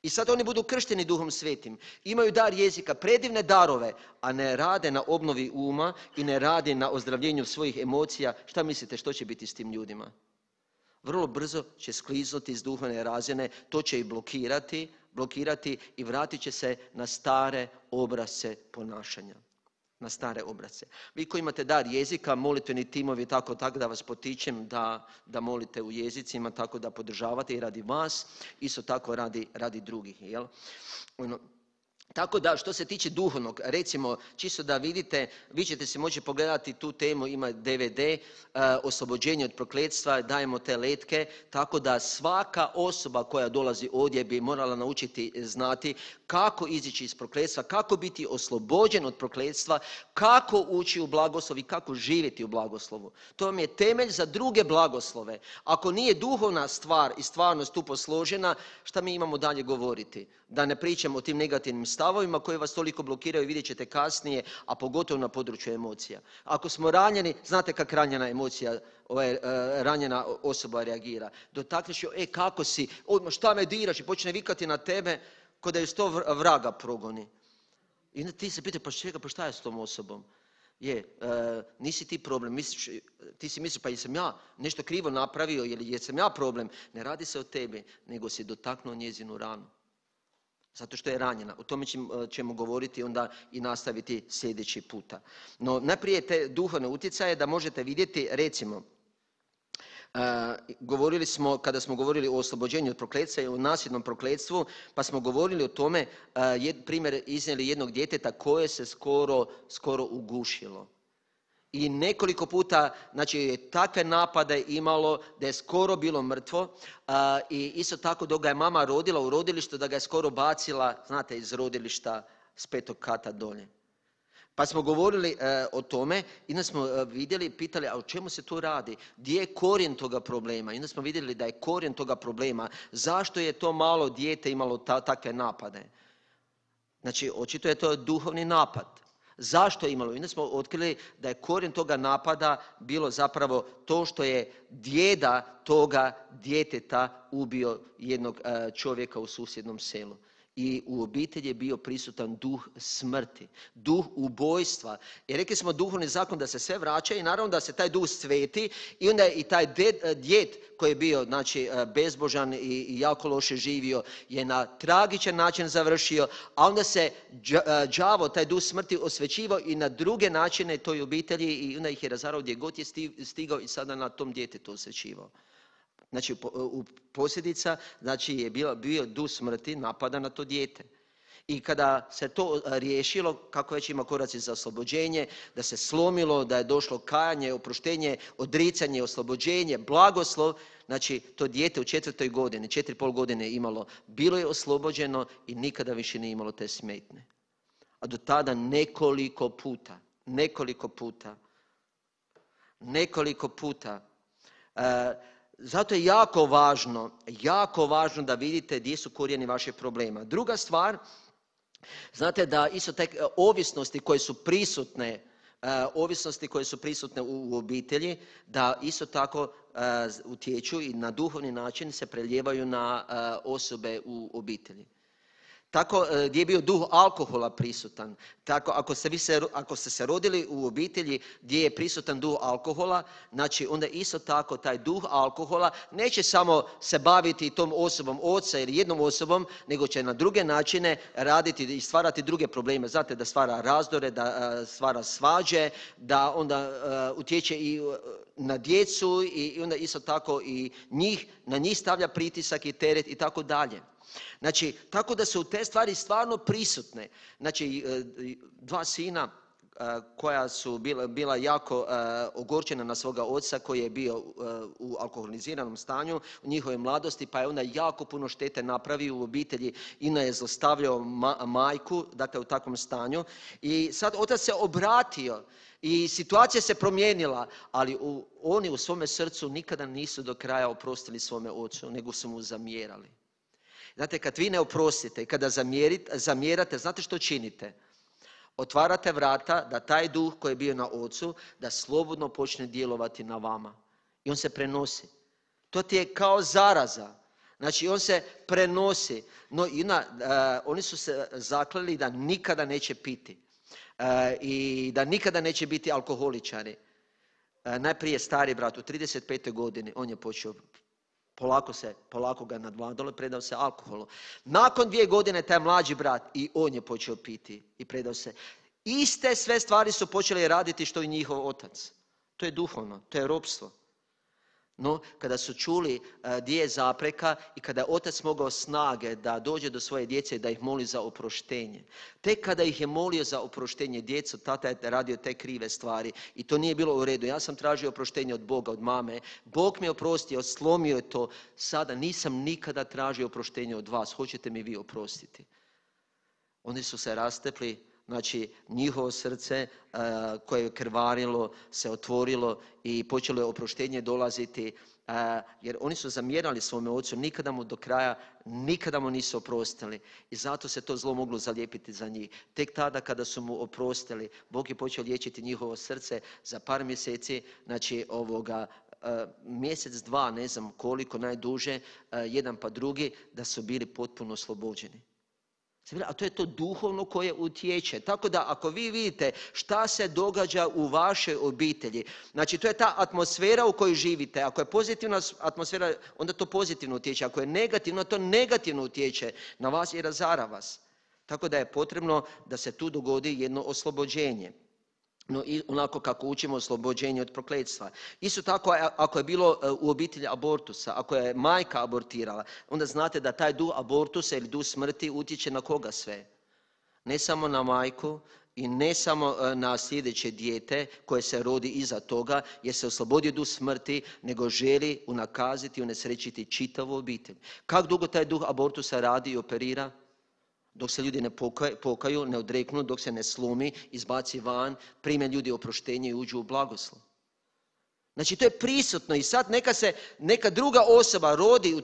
i sad oni budu kršteni Duhom Svetim, imaju dar jezika, predivne darove, a ne rade na obnovi uma i ne rade na ozdravljenju svojih emocija, šta mislite što će biti s tim ljudima? Vrlo brzo će skliznuti iz duhovne razine, to će ih blokirati i vratit će se na stare obrasce ponašanja. na stare obrasce. Vi koji imate dar jezika, molitveni timovi, tako da vas potičem da molite u jezicima, tako da podržavate i radi vas, isto tako radi drugih. Jel? Tako da što se tiče duhovnog, recimo čisto da vidite, vi ćete se moći pogledati tu temu, ima DVD, oslobođenje od prokletstva, dajemo te letke, tako da svaka osoba koja dolazi ovdje bi morala naučiti znati kako izići iz prokletstva, kako biti oslobođen od prokletstva, kako ući u blagoslov i kako živjeti u blagoslovu. To vam je temelj za druge blagoslove. Ako nije duhovna stvar i stvarnost tu posložena, šta mi imamo dalje govoriti? Da ne pričam o tim negativnim stavovima koji vas toliko blokiraju, vidjet ćete kasnije, a pogotovo na području emocija. Ako smo ranjeni, znate kako ranjena emocija, ranjena osoba reagira. Dotakneš joj, kako si, šta me diraš, i počne vikati na tebe, ko da je 100 vraga progoni. I onda ti se pita, pa šta je s tom osobom? Nisi ti problem, ti si misliš, pa jesam ja nešto krivo napravio ili jesam ja problem. Ne radi se o tebi, nego si dotaknuo njezinu ranu. Zato što je ranjena. O tome ćemo govoriti onda i nastaviti sljedeći puta. No, najprije te duhovne utjecaje da možete vidjeti, recimo, govorili smo, kada smo govorili o oslobođenju od prokletstva i o nasljednom prokletstvu, pa smo govorili o tome, primjer iznijeli jednog djeteta koje se skoro ugušilo. I nekoliko puta, znači, takve napade imalo da je skoro bilo mrtvo i isto tako dok ga je mama rodila u rodilištu da ga je skoro bacila, znate, iz rodilišta s 5. kata dolje. Pa smo govorili o tome i onda smo vidjeli, pitali, a o čemu se tu radi? Gdje je korijen toga problema? I onda smo vidjeli da je korijen toga problema. Zašto je to malo dijete imalo takve napade? Znači, očito je to duhovni napad. Zašto je imalo? I onda smo otkrili da je korijen toga napada bilo zapravo to što je djeda toga djeteta ubio jednog čovjeka u susjednom selu. I u obitelji je bio prisutan duh smrti, duh ubojstva. I rekli smo duhovni zakon da se sve vraća i naravno da se taj duh sveti i onda je i taj djed koji je bio, znači, bezbožan i jako loše živio je na tragičan način završio, a onda se đavo, taj duh smrti, osvećivao i na druge načine toj obitelji i onda ih je razarao gdje god je stigao i sada na tom djetetu osvećivao. Znači, posljedica, znači, je bio duh smrti napada na to dijete. I kada se to riješilo, kako već ima koraci za oslobođenje, da se slomilo, da je došlo kajanje, oproštenje, odricanje, oslobođenje, blagoslov, znači, to dijete u 4. godini, 4,5 godine imalo, bilo je oslobođeno i nikada više nije imalo te smetnje. A do tada nekoliko puta. Zato je jako važno da vidite gdje su korijeni vaših problema. Druga stvar, znate da isto te ovisnosti koje su prisutne u obitelji, da isto tako utječu i na duhovni način se prelijevaju na osobe u obitelji. Tako gdje je bio duh alkohola prisutan. Tako ako ste se rodili u obitelji gdje je prisutan duh alkohola, znači onda isto tako taj duh alkohola neće samo se baviti tom osobom oca ili jednom osobom, nego će na druge načine raditi i stvarati druge probleme. Znate, da stvara razdore, da stvara svađe, da onda utječe i na djecu i onda isto tako i na njih stavlja pritisak i teret i tako dalje. Znači, tako da su te stvari stvarno prisutne. Znači, 2 sina koja su bila jako ogorčena na svoga oca koji je bio u alkoholiziranom stanju u njihovoj mladosti, pa je onda jako puno štete napravio u obitelji i je zlostavljao majku, dakle u takvom stanju. I sad otac se obratio i situacija se promijenila, ali oni u svome srcu nikada nisu do kraja oprostili svome ocu, nego su mu zamjerali. Znate, kad vi ne oprostite i kada zamjerate, znate što činite? Otvarate vrata da taj duh koji je bio na ocu, da slobodno počne djelovati na vama. I on se prenosi. To ti je kao zaraza. Znači, on se prenosi. No, oni su se zakleli da nikada neće piti. I da nikada neće biti alkoholičari. Najprije stari brat u 35. godini, on je počeo polako ga nadvladalo i predao se alkoholu. Nakon 2 godine taj mlađi brat i on je počeo piti i predao se. iste sve stvari su počeli raditi što i njihov otac. To je duhovno, to je ropstvo. No, kada su čuli gdje je zapreka i kada je otac mogao snage da dođe do svoje djece i da ih moli za oproštenje. Tek kada ih je molio za oproštenje djecu, tata je radio te krive stvari i to nije bilo u redu. Ja sam tražio oproštenje od Boga, od mame. Bog mi je oprostio, slomio je to. Sada nisam nikada tražio oproštenje od vas. Hoćete mi vi oprostiti? Oni su se rastepli. Znači, njihovo srce koje je krvarilo se otvorilo i počelo je oproštenje dolaziti, jer oni su zamjerali svome ocu, nikada mu do kraja, nikada mu nisu oprostili. I zato se to zlo moglo zalijepiti za njih. Tek tada kada su mu oprostili, Bog je počeo liječiti njihovo srce za par mjeseci, znači mjesec, dva, ne znam koliko, najduže, jedan pa drugi, da su bili potpuno oslobođeni. A to je to duhovno koje utječe. Tako da ako vi vidite šta se događa u vašoj obitelji, znači to je ta atmosfera u kojoj živite. Ako je pozitivna atmosfera, onda to pozitivno utječe. Ako je negativno, to negativno utječe na vas i razara vas. Tako da je potrebno da se tu dogodi jedno oslobođenje. No, i onako kako učimo oslobođenje od prokletstva. Isto tako, ako je bilo u obitelji abortusa, ako je majka abortirala, onda znate da taj duh abortusa ili duh smrti utječe na koga sve? Ne samo na majku i ne samo na sljedeće dijete koje se rodi iza toga, jer se oslobodio duh smrti, nego želi unakaziti i unesrećiti čitavu obitelj. Kako dugo taj duh abortusa radi i operira? Dok se ljudi ne pokaju, ne odreknu, dok se ne slomi, izbaci van, prime ljudi oproštenje i uđu u blagoslov. Znači to je prisutno i sad neka druga osoba rodi u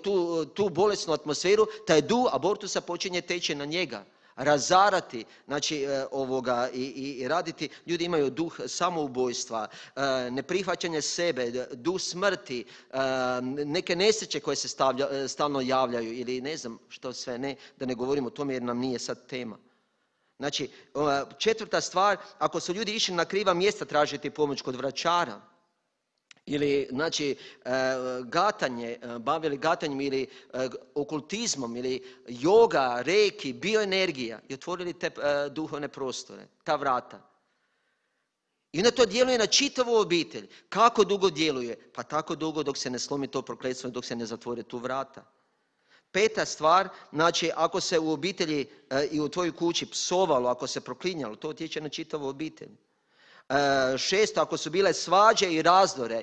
tu bolesnu atmosferu, taj duh abortusa počinje teći na njega, razarati, znači i raditi. Ljudi imaju duh samoubojstva, neprihvaćanje sebe, duh smrti, neke nesreće koje se stalno javljaju ili ne znam što sve ne, da ne govorimo o tome jer nam nije sad tema. Znači, četvrta stvar, ako su ljudi išli na kriva mjesta tražiti pomoć kod vračara, ili znači gatanje, bavili gatanjem ili okultizmom ili joga, reiki, bioenergija i otvorili te duhovne prostore, ta vrata. I onda to djeluje na čitavu obitelj. Kako dugo djeluje? Pa tako dugo dok se ne slomi to prokletstvo i dok se ne zatvore tu vrata. Peta stvar, znači ako se u obitelji i u tvojoj kući psovalo, ako se proklinjalo, to utječe na čitavu obitelj. Šesto, ako su bile svađe i razdore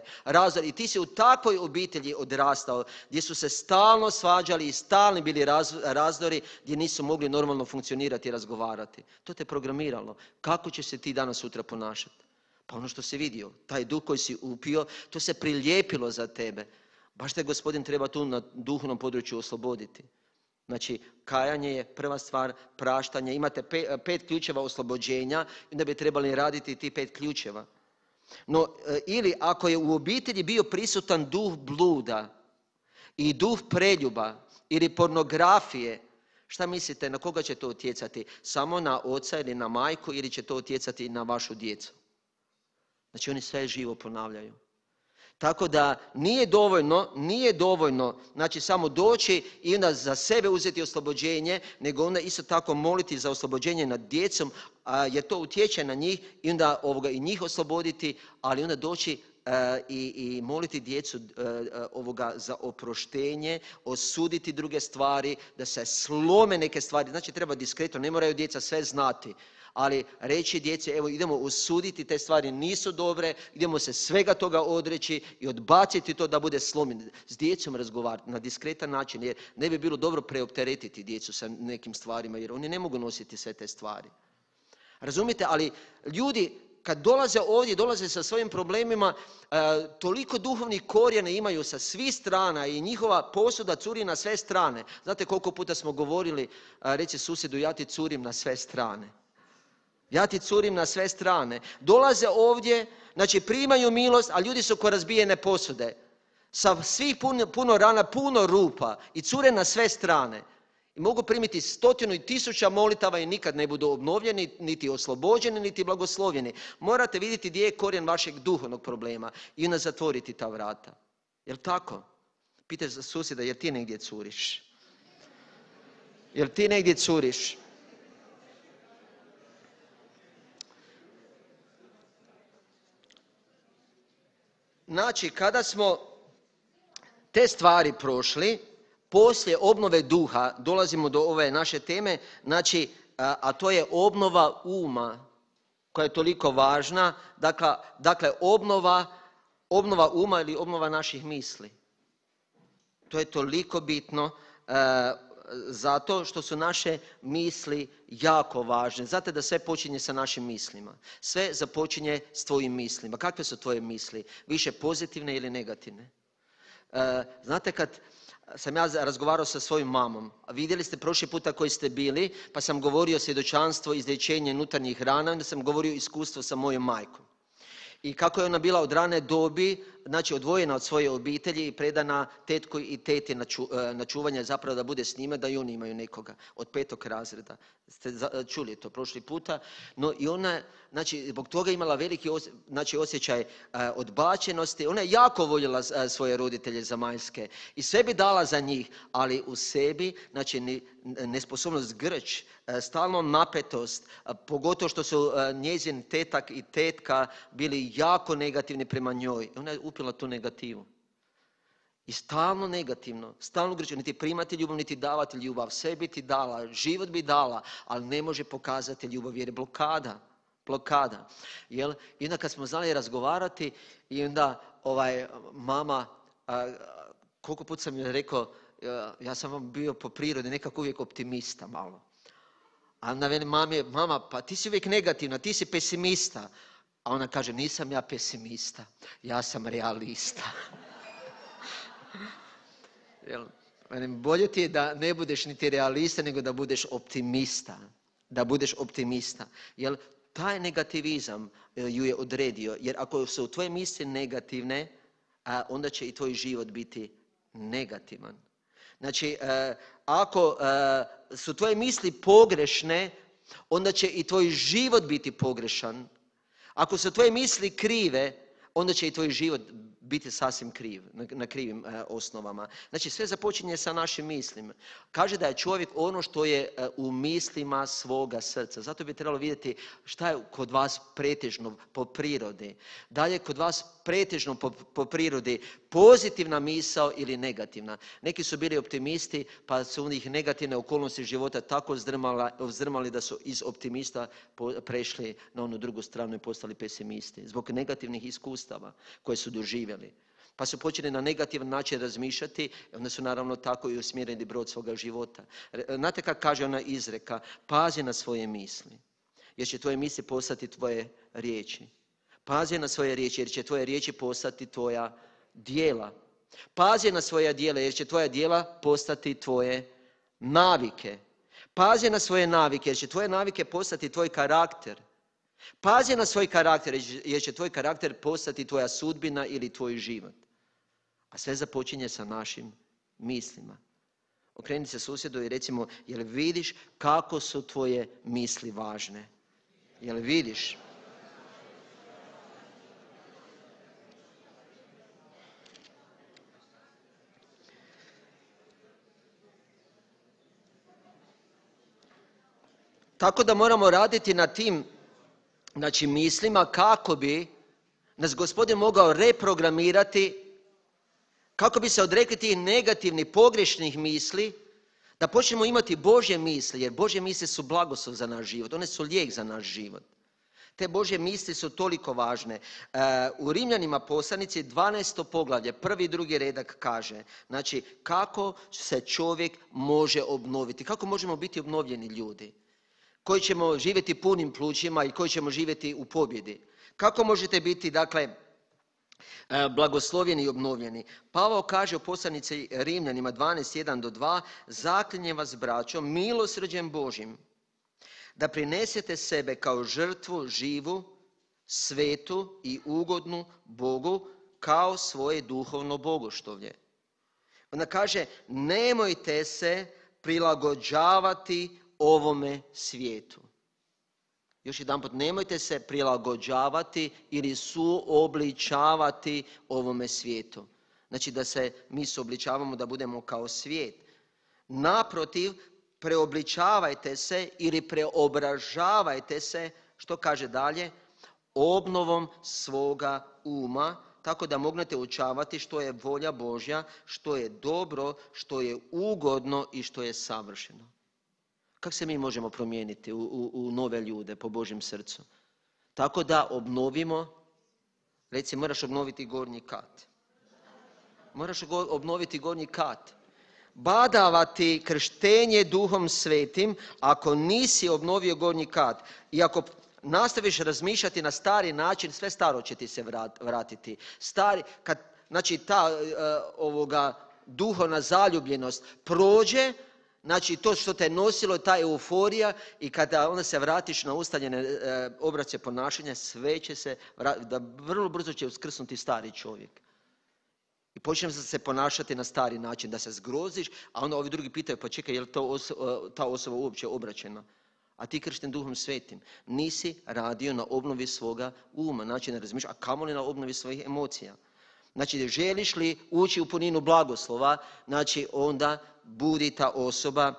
i ti si u takvoj obitelji odrastao gdje su se stalno svađali i stalni bili razdori gdje nisu mogli normalno funkcionirati i razgovarati. To te programiralo. Kako će se ti danas sutra ponašati? Pa ono što si vidio, taj duh koji si upio, to se prilijepilo za tebe. Baš te Gospodin treba tu na duhovnom području osloboditi. Znači, kajanje je prva stvar, praštanje. Imate 5 ključeva oslobođenja i onda bi trebali raditi ti 5 ključeva. No, ili ako je u obitelji bio prisutan duh bluda i duh preljuba ili pornografije, šta mislite, na koga će to utjecati? Samo na oca ili na majku ili će to utjecati na vašu djecu? Znači, oni sve živo ponavljaju. Tako da nije dovoljno znači samo doći i onda za sebe uzeti oslobođenje, nego onda isto tako moliti za oslobođenje nad djecom, jer to utječe na njih i onda i njih osloboditi, ali onda doći i moliti djecu za oproštenje, osuditi druge stvari, da se slome neke stvari. Znači treba diskretno, ne moraju djeca sve znati. Ali reći djeci, evo idemo osuditi te stvari, nisu dobre, idemo se svega toga odreći i odbaciti to da bude slomljeno. S djecom razgovarati na diskretan način, jer ne bi bilo dobro preopteretiti djecu sa nekim stvarima, jer oni ne mogu nositi sve te stvari. Razumite, ali ljudi kad dolaze ovdje, dolaze sa svojim problemima, toliko duhovnih korijena imaju sa svih strana i njihova posuda curi na sve strane. Znate koliko puta smo govorili, reći susjedu, ja ti curim na sve strane. Ja ti curim na sve strane. Dolaze ovdje, znači primaju milost, a ljudi su ko razbijene posude. Sa svih puno rana, puno rupa i cure na sve strane. I mogu primiti 100 i 1000 molitava i nikad ne budu obnovljeni, niti oslobođeni, niti blagoslovljeni. Morate vidjeti gdje je korijen vašeg duhovnog problema i onda zatvoriti ta vrata. Jel tako? Pitaj susjeda, jer ti negdje curiš? Jel ti negdje curiš? Znači, kada smo te stvari prošli, poslije obnove duha dolazimo do ove naše teme, znači, a to je obnova uma, koja je toliko važna. Dakle, obnova uma ili obnova naših misli. To je toliko bitno zato što su naše misli jako važne. Znate da sve počinje sa našim mislima. Sve započinje s tvojim mislima. Kakve su tvoje misli? Više pozitivne ili negativne? Znate, kad sam ja razgovarao sa svojom mamom, a vidjeli ste prošli puta koji ste bili, pa sam govorio svjedočanstvo, izlječenje unutarnjih rana, onda sam govorio iskustvo sa mojom majkom. I kako je ona bila od rane dobi, znači odvojena od svoje obitelji i predana tetku i teti na čuvanje, zapravo da bude s njima, da i oni imaju nekoga od 5. razreda. Ste čuli to prošli puta. No i ona, znači, zbog toga imala veliki osjećaj odbačenosti. Ona je jako voljela svoje roditelje zemaljske i sve bi dala za njih, ali u sebi, znači, nesposobnost, grč, stalno napetost, pogotovo što su njezin tetak i tetka bili jako negativni prema njoj. Ona je upila tu negativu. I stalno negativno, stalno grčo, niti primati ljubav, niti davati ljubav. Sve bi ti dala, život bi dala, ali ne može pokazati ljubav jer je blokada. Jel? I onda kad smo znali razgovarati i onda mama, koliko put sam joj rekao, ja sam vam bio po prirodi nekako uvijek optimista malo. A onda veli mama, pa ti si uvijek negativna, ti si pesimista. A ona kaže, nisam ja pesimista, ja sam realista. Bolje ti je da ne budeš niti realista, nego da budeš optimista. Da budeš optimista. Jer taj negativizam ju je odredio. Jer ako su tvoje misli negativne, onda će i tvoj život biti negativan. Znači, ako su tvoje misli pogrešne, onda će i tvoj život biti pogrešan. Ako su tvoje misli krive, onda će i tvoj život biti sasvim kriv, na krivim osnovama. Znači, sve započinje sa našim mislima. Kaže da je čovjek ono što je u mislima svoga srca. Zato bi trebalo vidjeti šta je kod vas pretežno po prirodi. Da li je kod vas pretežno po prirodi pozitivna misao ili negativna. Neki su bili optimisti, pa su u njih negativne okolnosti života tako vzdrmali da su iz optimista prešli na onu drugu stranu i postali pesimisti. Zbog negativnih iskustava koje su doživjeli. Pa su počeli na negativan način razmišljati i onda su naravno tako i usmjerili brod svoga života. Znate kako kaže ona izreka? Pazi na svoje misli, jer će tvoje misli postati tvoje riječi. Pazi na svoje riječi, jer će tvoje riječi postati tvoja djela. Pazi na svoja djela, jer će tvoja djela postati tvoje navike. Pazi na svoje navike, jer će tvoje navike postati tvoj karakter. Pazi na svoj karakter, jer će tvoj karakter postati tvoja sudbina ili tvoj život. A sve započinje sa našim mislima. Okreni se susjedu i recimo, jel vidiš kako su tvoje misli važne? Jel vidiš? Tako da moramo raditi na tim, znači, mislima kako bi nas Gospodin mogao reprogramirati, kako bi se odrekli tih negativnih, pogrešnih misli, da počnemo imati Božje misli, jer Božje misli su blagoslov za naš život, one su lijek za naš život. Te Božje misli su toliko važne. U Rimljanima poslanici 12. poglavlje, 1. i 2. redak kaže, znači, kako se čovjek može obnoviti, kako možemo biti obnovljeni ljudi, koji ćemo živjeti punim plućima i koji ćemo živjeti u pobjedi. Kako možete biti, dakle, blagoslovljeni i obnovljeni? Pavao kaže u poslanici Rimljanima 12:1-2, zaklinjem vas, braćo, milosrđem Božjim, da prinesete sebe kao žrtvu živu, svetu i ugodnu Bogu, kao svoje duhovno bogoštovlje. Onda kaže, nemojte se prilagođavati ovome svijetu. Još jedanput, nemojte se prilagođavati ili suobličavati ovome svijetu. Znači da se mi suobličavamo da budemo kao svijet. Naprotiv, preobličavajte se ili preobražavajte se, što kaže dalje, obnovom svoga uma, tako da mognete učavati što je volja Božja, što je dobro, što je ugodno i što je savršeno. Kako se mi možemo promijeniti u nove ljude po Božjem srcu? Tako da obnovimo, recimo moraš obnoviti gornji kat. Moraš obnoviti gornji kat. Badavati krštenje Duhom Svetim ako nisi obnovio gornji kat. I ako nastaviš razmišljati na stari način, sve staro će ti se vratiti. Znači ta duhovna zaljubljenost prođe, znači to što te je nosilo, ta euforija, i kada onda se vratiš na ustaljene obrasce ponašanja, sve će se, vrlo brzo će uskrsnuti stari čovjek. I počneš se ponašati na stari način, da se zgroziš, a onda ovi drugi pitaju, pa čekaj, je li ta osoba uopće obraćena? A ti kršten Duhom Svetim nisi radio na obnovi svoga uma, znači ne razmišljaš, a kamoli na obnovi svojih emocija. Znači, želiš li ući u puninu blagoslova, znači onda budi ta osoba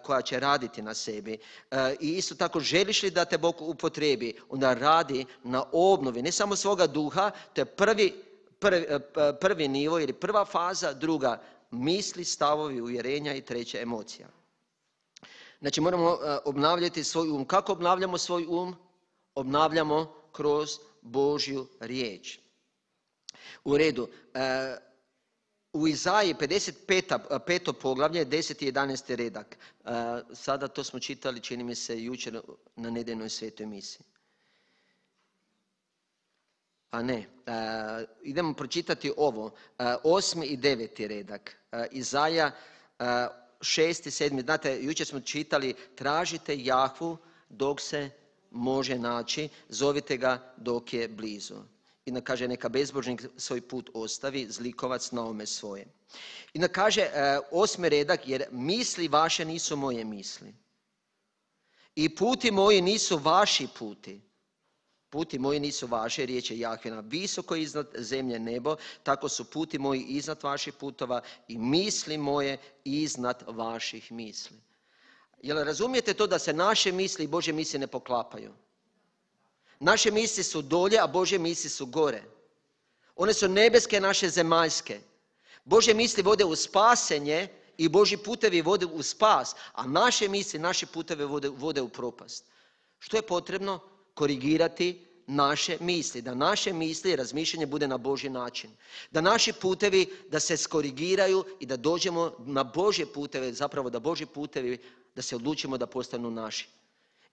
koja će raditi na sebi. I isto tako, želiš li da te Bog upotrebi, onda radi na obnovi, ne samo svoga duha, to je prvi nivo ili prva faza, druga misli, stavovi, uvjerenja i treća emocija. Znači, moramo obnavljati svoj um. Kako obnavljamo svoj um? Obnavljamo kroz Božju riječ. U redu, u Izaiji 55. poglavlje, 10. i 11. redak. Sada to smo čitali, čini mi se, jučer na nedeljnoj svetoj misiji. A ne, idemo pročitati ovo, 8. i 9. redak. Izaija 6. i 7. Znate, jučer smo čitali, tražite Jahvu dok se može naći, zovite ga dok je blizu. I onda kaže, neka bezbožnik svoj put ostavi, zlikovac naome svoje. I onda kaže 8. redak, jer misli vaše nisu moje misli. I puti moji nisu vaši puti. Puti moji nisu vaše, riječ je Jahvina, visoko iznad zemlje nebo, tako su puti moji iznad vaših putova i misli moje iznad vaših misli. Jel razumijete to da se naše misli i Božje misli ne poklapaju? Naše misli su dolje, a Božje misli su gore. One su nebeske, naše zemaljske. Božje misli vode u spasenje i Božji putevi vode u spas, a naše misli, naše puteve vode u propast. Što je potrebno? Korigirati naše misli, da naše misli i razmišljanje bude na Božji način. Da naši putevi da se skorigiraju i da dođemo na Božje puteve, zapravo da Božji putevi, da se odlučimo da postanu naši.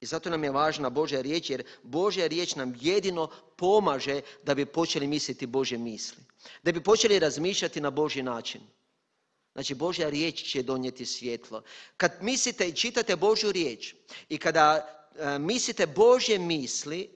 I zato nam je važna Božja riječ, jer Božja riječ nam jedino pomaže da bi počeli misliti Božje misli. Da bi počeli razmišljati na Božji način. Znači, Božja riječ će donijeti svjetlo. Kad mislite i čitate Božju riječ i kada mislite Božje misli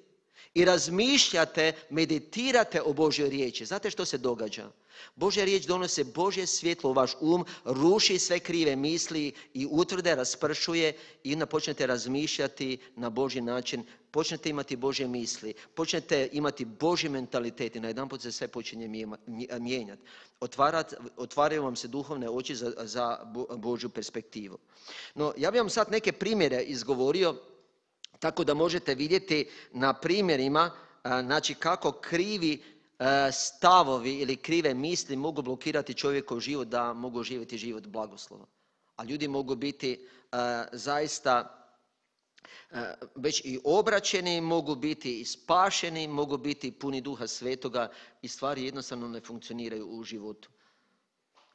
i razmišljate, meditirate o Božjoj riječi, znate što se događa? Božja riječ donosi Božje svjetlo u vaš um, ruši sve krive misli i utvrde, raspršuje i onda počnete razmišljati na Božji način, počnete imati Božje misli, počnete imati Božji mentalitet i najedanput se sve počinje mijenjati. Otvaraju vam se duhovne oči za Božju perspektivu. No, ja bih vam sad neke primjere izgovorio, tako da možete vidjeti na primjerima, znači kako krivi stavovi ili krive misli mogu blokirati čovjekov život da mogu živjeti život blagoslova. A ljudi mogu biti zaista već i obraćeni, mogu biti i spašeni, mogu biti puni Duha Svetoga i stvari jednostavno ne funkcioniraju u životu.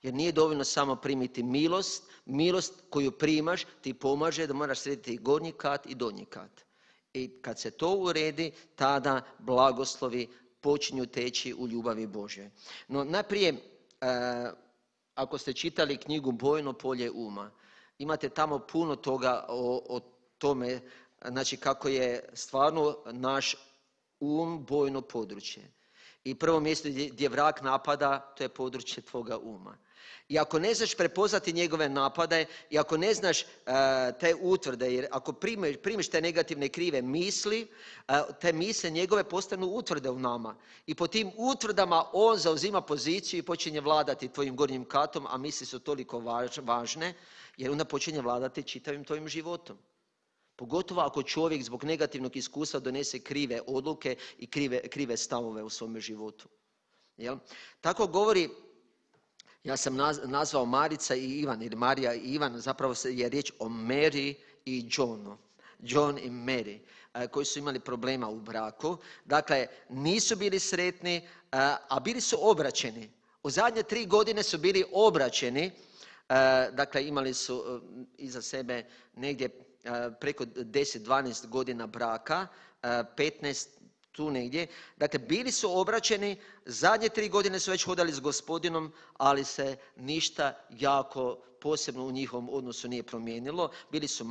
Jer nije dovoljno samo primiti milost, milost koju primaš ti pomaže da moraš srediti gornji kat i donji kat. I kad se to uredi, tada blagoslovi počinju teći u ljubavi Božjoj. No najprije, ako ste čitali knjigu Bojno polje uma, imate tamo puno toga o tome, znači kako je stvarno naš um bojno područje. I prvo mjesto gdje vrag napada, to je područje tvoga uma. I ako ne znaš prepoznati njegove napade, i ako ne znaš te utvrde, jer ako primiš te negativne krive misli, te misle njegove postanu utvrde u nama. I po tim utvrdama on zauzima poziciju i počinje vladati tvojim gornjim katom, a misli su toliko važne, jer onda počinje vladati čitavim tvojim životom. Pogotovo ako čovjek zbog negativnog iskustva donese krive odluke i krive stavove u svome životu. Jel? Tako govori, ja sam nazvao Marica i Ivan, ili Marija i Ivan, zapravo je riječ o Mary i Johnu. John i Mary, koji su imali problema u braku. Dakle, nisu bili sretni, a bili su obraćeni. U zadnje 3 godine su bili obraćeni. Dakle, imali su iza sebe negdje preko 10-12 godina braka, 15 tu negdje. Dakle, bili su obraćeni, zadnje 3 godine su već hodali s Gospodinom, ali se ništa jako posebno u njihovom odnosu nije promijenilo. Bili su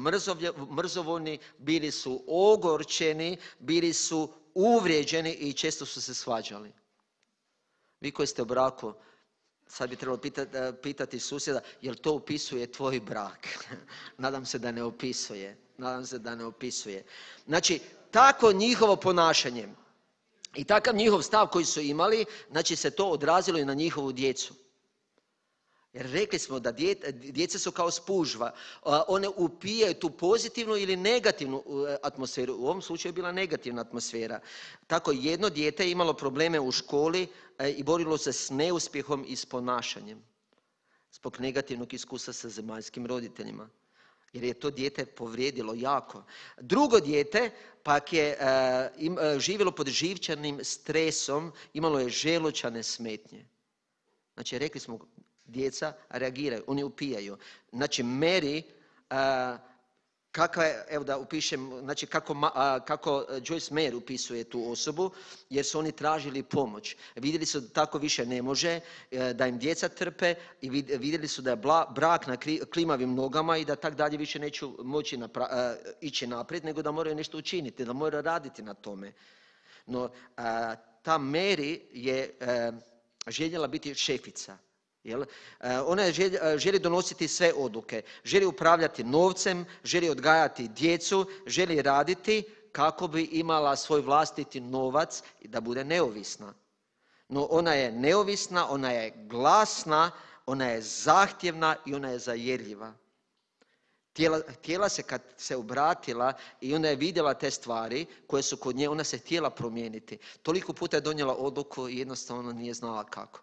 mrzovoljni, bili su ogorčeni, bili su uvrijeđeni i često su se svađali. Vi koji ste u braku, sad bi trebalo pitati susjeda, jel to opisuje tvoj brak? Nadam se da ne opisuje. Znači, tako njihovo ponašanje i takav njihov stav koji su imali, znači se to odrazilo i na njihovu djecu. Jer rekli smo da djeca su kao spužva. One upijaju tu pozitivnu ili negativnu atmosferu. U ovom slučaju je bila negativna atmosfera. Tako jedno dijete je imalo probleme u školi i borilo se s neuspjehom i s ponašanjem. Zbog negativnog iskustva sa zemaljskim roditeljima. Jer je to dijete povrijedilo jako. Drugo dijete pak je živjelo pod živčanim stresom, imalo je želučane smetnje. Znači, rekli smo, djeca reagiraju, oni upijaju. Znači, Mary, evo da upišem, znači kako Joyce Meyer upisuje tu osobu, jer su oni tražili pomoć. Vidjeli su da tako više ne može, da im djeca trpe i vidjeli su da je brak na klimavim nogama i da tak dalje više neće moći ići naprijed, nego da moraju nešto učiniti, da moraju raditi na tome. No, ta Mary je željela biti šefica. Jel? Ona želi donositi sve odluke, želi upravljati novcem, želi odgajati djecu, želi raditi kako bi imala svoj vlastiti novac i da bude neovisna. No ona je neovisna, ona je glasna, ona je zahtjevna i ona je zajedljiva. Htjela se kad se obratila i ona je vidjela te stvari koje su kod nje, ona se htjela promijeniti. Toliko puta je donijela odluku i jednostavno nije znala kako.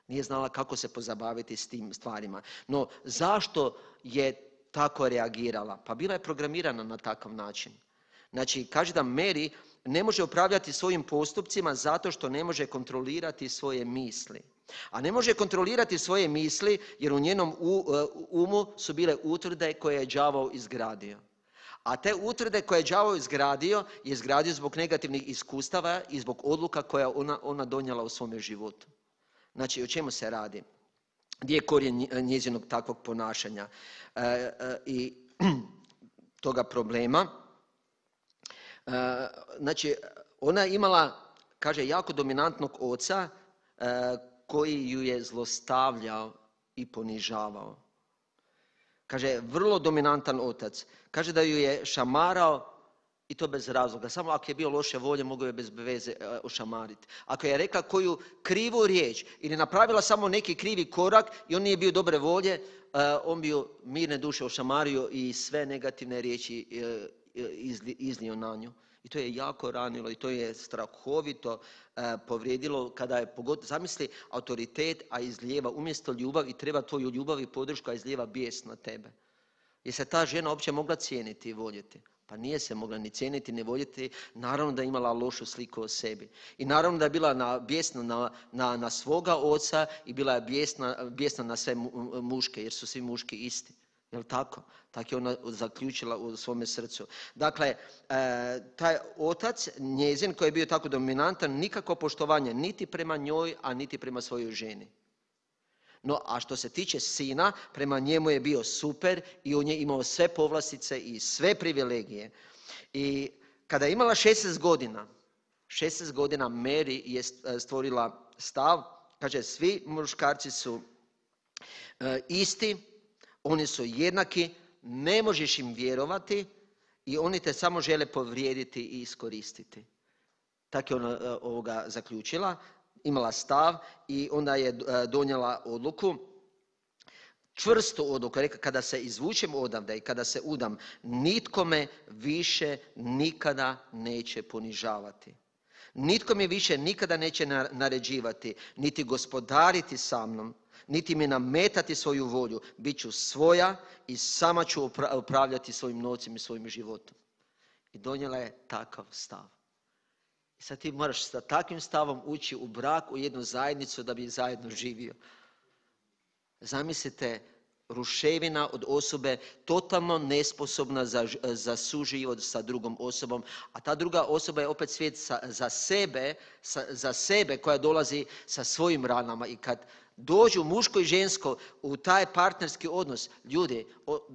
Nije znala kako se pozabaviti s tim stvarima. No, zašto je tako reagirala? Pa bila je programirana na takav način. Znači, kaže da Mary ne može upravljati svojim postupcima zato što ne može kontrolirati svoje misli. A ne može kontrolirati svoje misli jer u njenom umu su bile utvrde koje je đavao izgradio. A te utvrde koje je đavao izgradio je izgradio zbog negativnih iskustava i zbog odluka koje ona donijela u svome životu. Znači, o čemu se radi? Gdje je korijen njezinog takvog ponašanja i toga problema? Znači, ona je imala, kaže, jako dominantnog oca koji ju je zlostavljao i ponižavao. Kaže, vrlo dominantan otac. Kaže da ju je šamarao i to bez razloga. Samo ako je bio loše volje, mogu je bez veze ošamariti. Ako je rekla koju krivu riječ ili napravila samo neki krivi korak i on nije bio dobre volje, on bi ju mirne duše ošamario i sve negativne riječi iznio na nju. I to je jako ranilo i to je strahovito povrijedilo kada je zamisli autoritet, a izlijeva umjesto ljubav i treba tvoju ljubav i podršku, a izlijeva bijes na tebe. Je se ta žena uopće mogla cijeniti i voljeti? Pa nije se mogla ni cijeniti, ni voljeti. Naravno da je imala lošu sliku o sebi. I naravno da je bila bijesna na svoga oca i bila je bijesna na sve muške, jer su svi muški isti. Jel' tako? Tako je ona zaključila u svome srcu. Dakle, taj otac, njezin, koji je bio tako dominantan, nikako poštovanje niti prema njoj, a niti prema svojoj ženi. No, a što se tiče sina, prema njemu je bio super i on je imao sve povlastice i sve privilegije. I kada je imala 16 godina Mary je stvorila stav, kaže, svi muškarci su isti, oni su jednaki, ne možeš im vjerovati i oni te samo žele povrijediti i iskoristiti. Tako je ona ovoga zaključila, imala stav i onda je donijela odluku, čvrstu odluku, rekla, kada se izvučem odavde i kada se udam, nitko me više nikada neće ponižavati. Nitko mi više nikada neće naređivati, niti gospodariti sa mnom, niti mi nametati svoju volju. Biću svoja i sama ću upravljati svojim novcem i svojim životom. I donijela je takav stav. I sad ti moraš sa takvim stavom ući u brak, u jednu zajednicu da bi zajedno živio. Zamislite, ruševina od osobe totalno nesposobna za suživot sa drugom osobom, a ta druga osoba je opet svijet za sebe koja dolazi sa svojim ranama. I kad dođu muško i žensko u taj partnerski odnos, ljudi,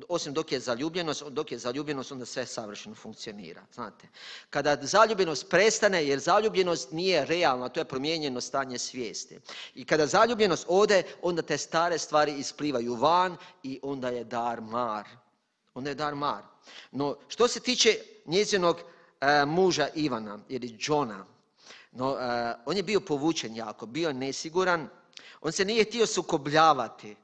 osim dok je zaljubljenost, onda sve savršeno funkcionira. Znate, kada zaljubljenost prestane, jer zaljubljenost nije realna, to je promijenjeno stanje svijesti. I kada zaljubljenost ode, onda te stare stvari isplivaju van i onda je dar mar. No, što se tiče njezinog muža Ivana ili Johna, on je bio povučen jako, bio je nesiguran. On se nije htio sukobljavati,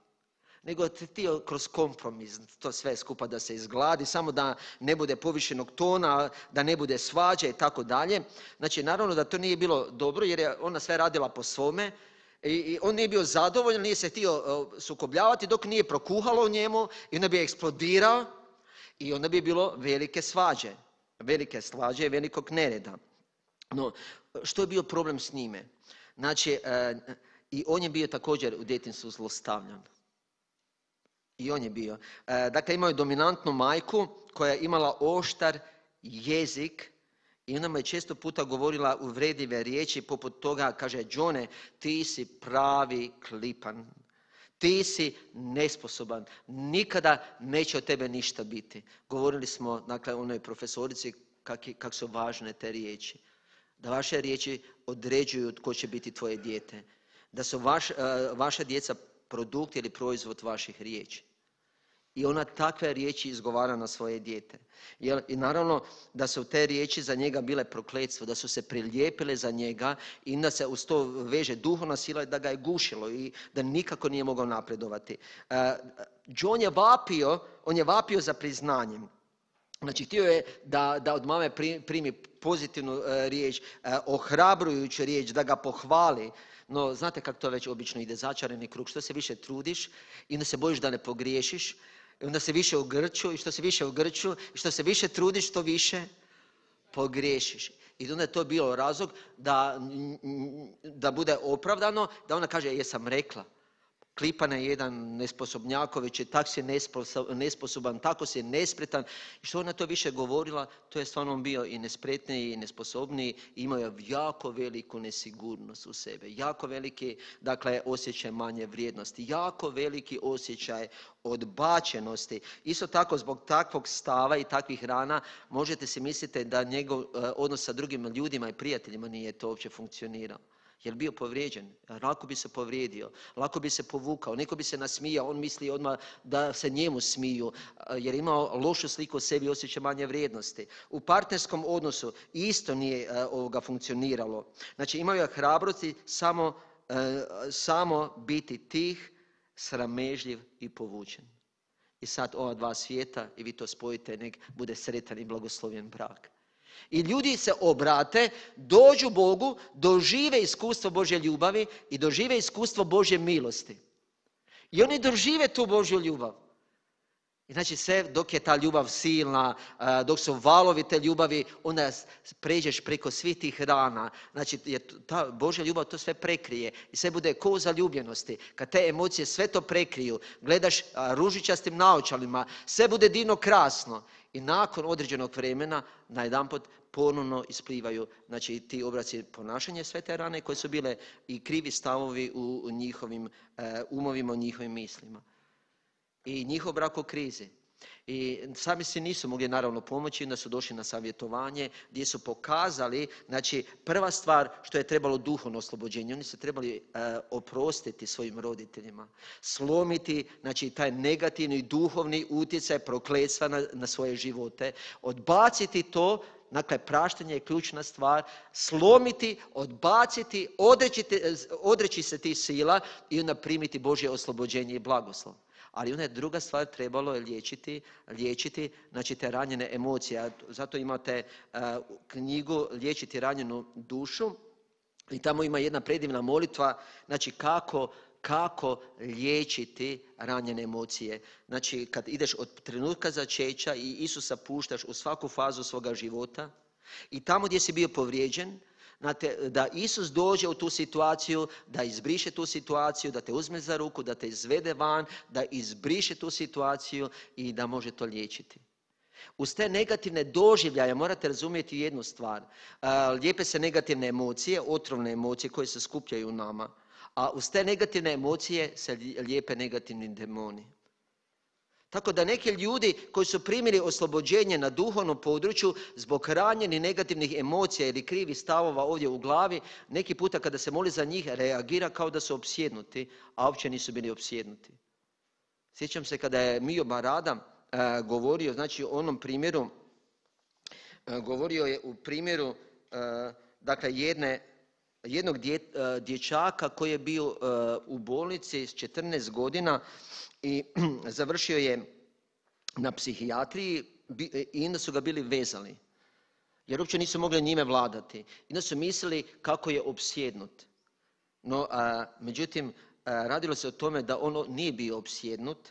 nego je htio kroz kompromis to sve skupa da se izgladi, samo da ne bude povišenog tona, da ne bude svađe i tako dalje. Znači, naravno da to nije bilo dobro jer je ona sve radila po svome i on nije bio zadovoljan, nije se htio sukobljavati dok nije prokuhalo u njemu i onda bi eksplodirao i onda bi bilo velike svađe i velikog nereda. No, što je bio problem s njime? Znači, i on je bio također u djetinjstvu zlostavljan. I on je bio. Dakle, imao je dominantnu majku koja je imala oštar jezik i ona mu je često puta govorila uvredljive riječi poput toga, kaže, Johne, ti si pravi klipan. Ti si nesposoban. Nikada neće od tebe ništa biti. Govorili smo, dakle, onoj profesorici kako su važne te riječi. Da vaše riječi određuju tko će biti tvoje dijete. Da su vaša djeca produkt ili proizvod vaših riječi. I ona takve riječi izgovara na svoje dijete. I naravno da su te riječi za njega bile prokletstvo, da su se prilijepile za njega i da se uz to veže duhovna sila da ga je gušilo i da nikako nije mogao napredovati. John je vapio za priznanjem. Znači, htio je da od mame primi pozitivnu riječ, ohrabrujuću riječ, da ga pohvali. No, znate kako to već obično ide, začarani krug. Što se više trudiš i onda se bojiš da ne pogriješiš, i onda se više ugrču i što se više ugrču i što se više trudiš, to više pogriješiš. I onda je to bilo razlog da bude opravdano, da ona kaže, jesam rekla. Klipan je jedan nesposobnjaković, tako si nesposoban, tako si nespretan. I što ona to više govorila, to je stvarno bio i nespretniji i nesposobniji. Imao je jako veliku nesigurnost u sebe. Jako veliki, dakle, osjećaj manje vrijednosti. Jako veliki osjećaj odbačenosti. Isto tako, zbog takvog stava i takvih rana, možete si misliti da njegov odnos sa drugim ljudima i prijateljima nije to uopće funkcionirao. Jer bio povrijeđen, lako bi se povrijedio, lako bi se povukao, neko bi se nasmijao, on misli odmah da se njemu smiju, jer imao lošu sliku o sebi i osjećaj manje vrijednosti. U partnerskom odnosu isto nije funkcioniralo. Znači, imao je hrabrosti samo biti tih, sramežljiv i povučen. I sad ova dva svijeta, i vi to spojite, nek bude sretan i blagoslovljen brak. I ljudi se obrate, dođu Bogu, dožive iskustvo Božje ljubavi i dožive iskustvo Božje milosti. I oni dožive tu Božju ljubav. I znači sve dok je ta ljubav silna, dok su valovi te ljubavi, onda pređeš preko svih tih rana. Znači ta Božja ljubav to sve prekrije i sve bude ko zaljubljenosti. Kad te emocije sve to prekriju, gledaš ružičastim naočalima, sve bude divno krasno. I nakon određenog vremena najedanput ponovno isplivaju, znači, ti obraci ponašanja, sve te rane koje su bile i krivi stavovi u njihovim umovima, u njihovim mislima. I njihov brak u krizi. I sami si nisu mogli naravno pomoći, onda su došli na savjetovanje gdje su pokazali, znači, prva stvar što je trebalo duhovno oslobođenje, oni su trebali oprostiti svojim roditeljima, slomiti, znači, taj negativni duhovni utjecaj prokletstva na svoje živote, odbaciti to. Dakle, praštanje je ključna stvar, slomiti, odbaciti, odreći se tih sila i onda primiti Božje oslobođenje i blagoslov. Ali ona je druga stvar, trebalo je liječiti znači te ranjene emocije. Zato imate knjigu Liječiti ranjenu dušu i tamo ima jedna predivna molitva, znači kako liječiti ranjene emocije. Znači kad ideš od trenutka začeća i Isusa puštaš u svaku fazu svoga života i tamo gdje si bio povrijeđen, da Isus dođe u tu situaciju, da izbriše tu situaciju, da te uzme za ruku, da te izvede van, da izbriše tu situaciju i da može to liječiti. Uz te negativne doživljaje morate razumjeti jednu stvar. Lijepe se negativne emocije, otrovne emocije koje se skupljaju u nama, a uz te negativne emocije se lijepe negativni demoni. Tako da neki ljudi koji su primili oslobođenje na duhovnom području zbog ranjenih negativnih emocija ili krivih stavova ovdje u glavi, neki puta kada se moli za njih reagira kao da su opsjednuti, a uopće nisu bili opsjednuti. Sjećam se kada je Mio Barada govorio, znači o onom primjeru, govorio je u primjeru dakle jednog dječaka koji je bio u bolnici s 14 godina i završio je na psihijatriji i onda su ga bili vezali. Jer uopće nisu mogli njime vladati. I onda su mislili kako je opsjednut. No, međutim, radilo se o tome da on nije bio opsjednut,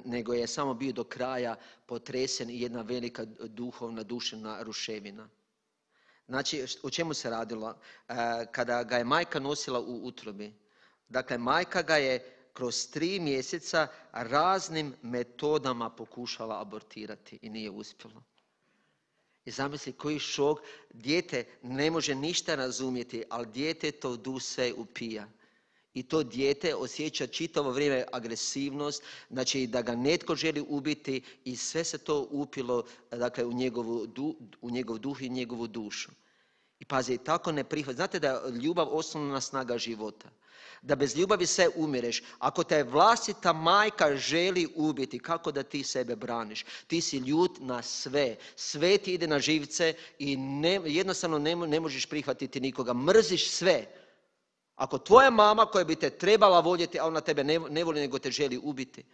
nego je samo bio do kraja potresen i jedna velika duhovna, duševna ruševina. Znači, o čemu se radilo? Kada ga je majka nosila u utrobi, dakle, majka ga je kroz 3 mjeseca raznim metodama pokušala abortirati i nije uspjelo. I zamisli koji šok, dijete ne može ništa razumjeti, ali dijete to duh sve upija. I to dijete osjeća čitavo vrijeme agresivnost, znači da ga netko želi ubiti i sve se to upilo dakle, u njegov duh i njegovu dušu. I pazi, tako ne prihvat. Znate da je ljubav osnovna snaga života. Da bez ljubavi sve umireš. Ako te vlastita majka želi ubiti, kako da ti sebe braniš? Ti si ljut na sve. Sve ti ide na živce i jednostavno ne možeš prihvatiti nikoga. Mrziš sve. Ako tvoja mama koja bi te trebala voljeti, a ona tebe ne voli nego te želi ubiti.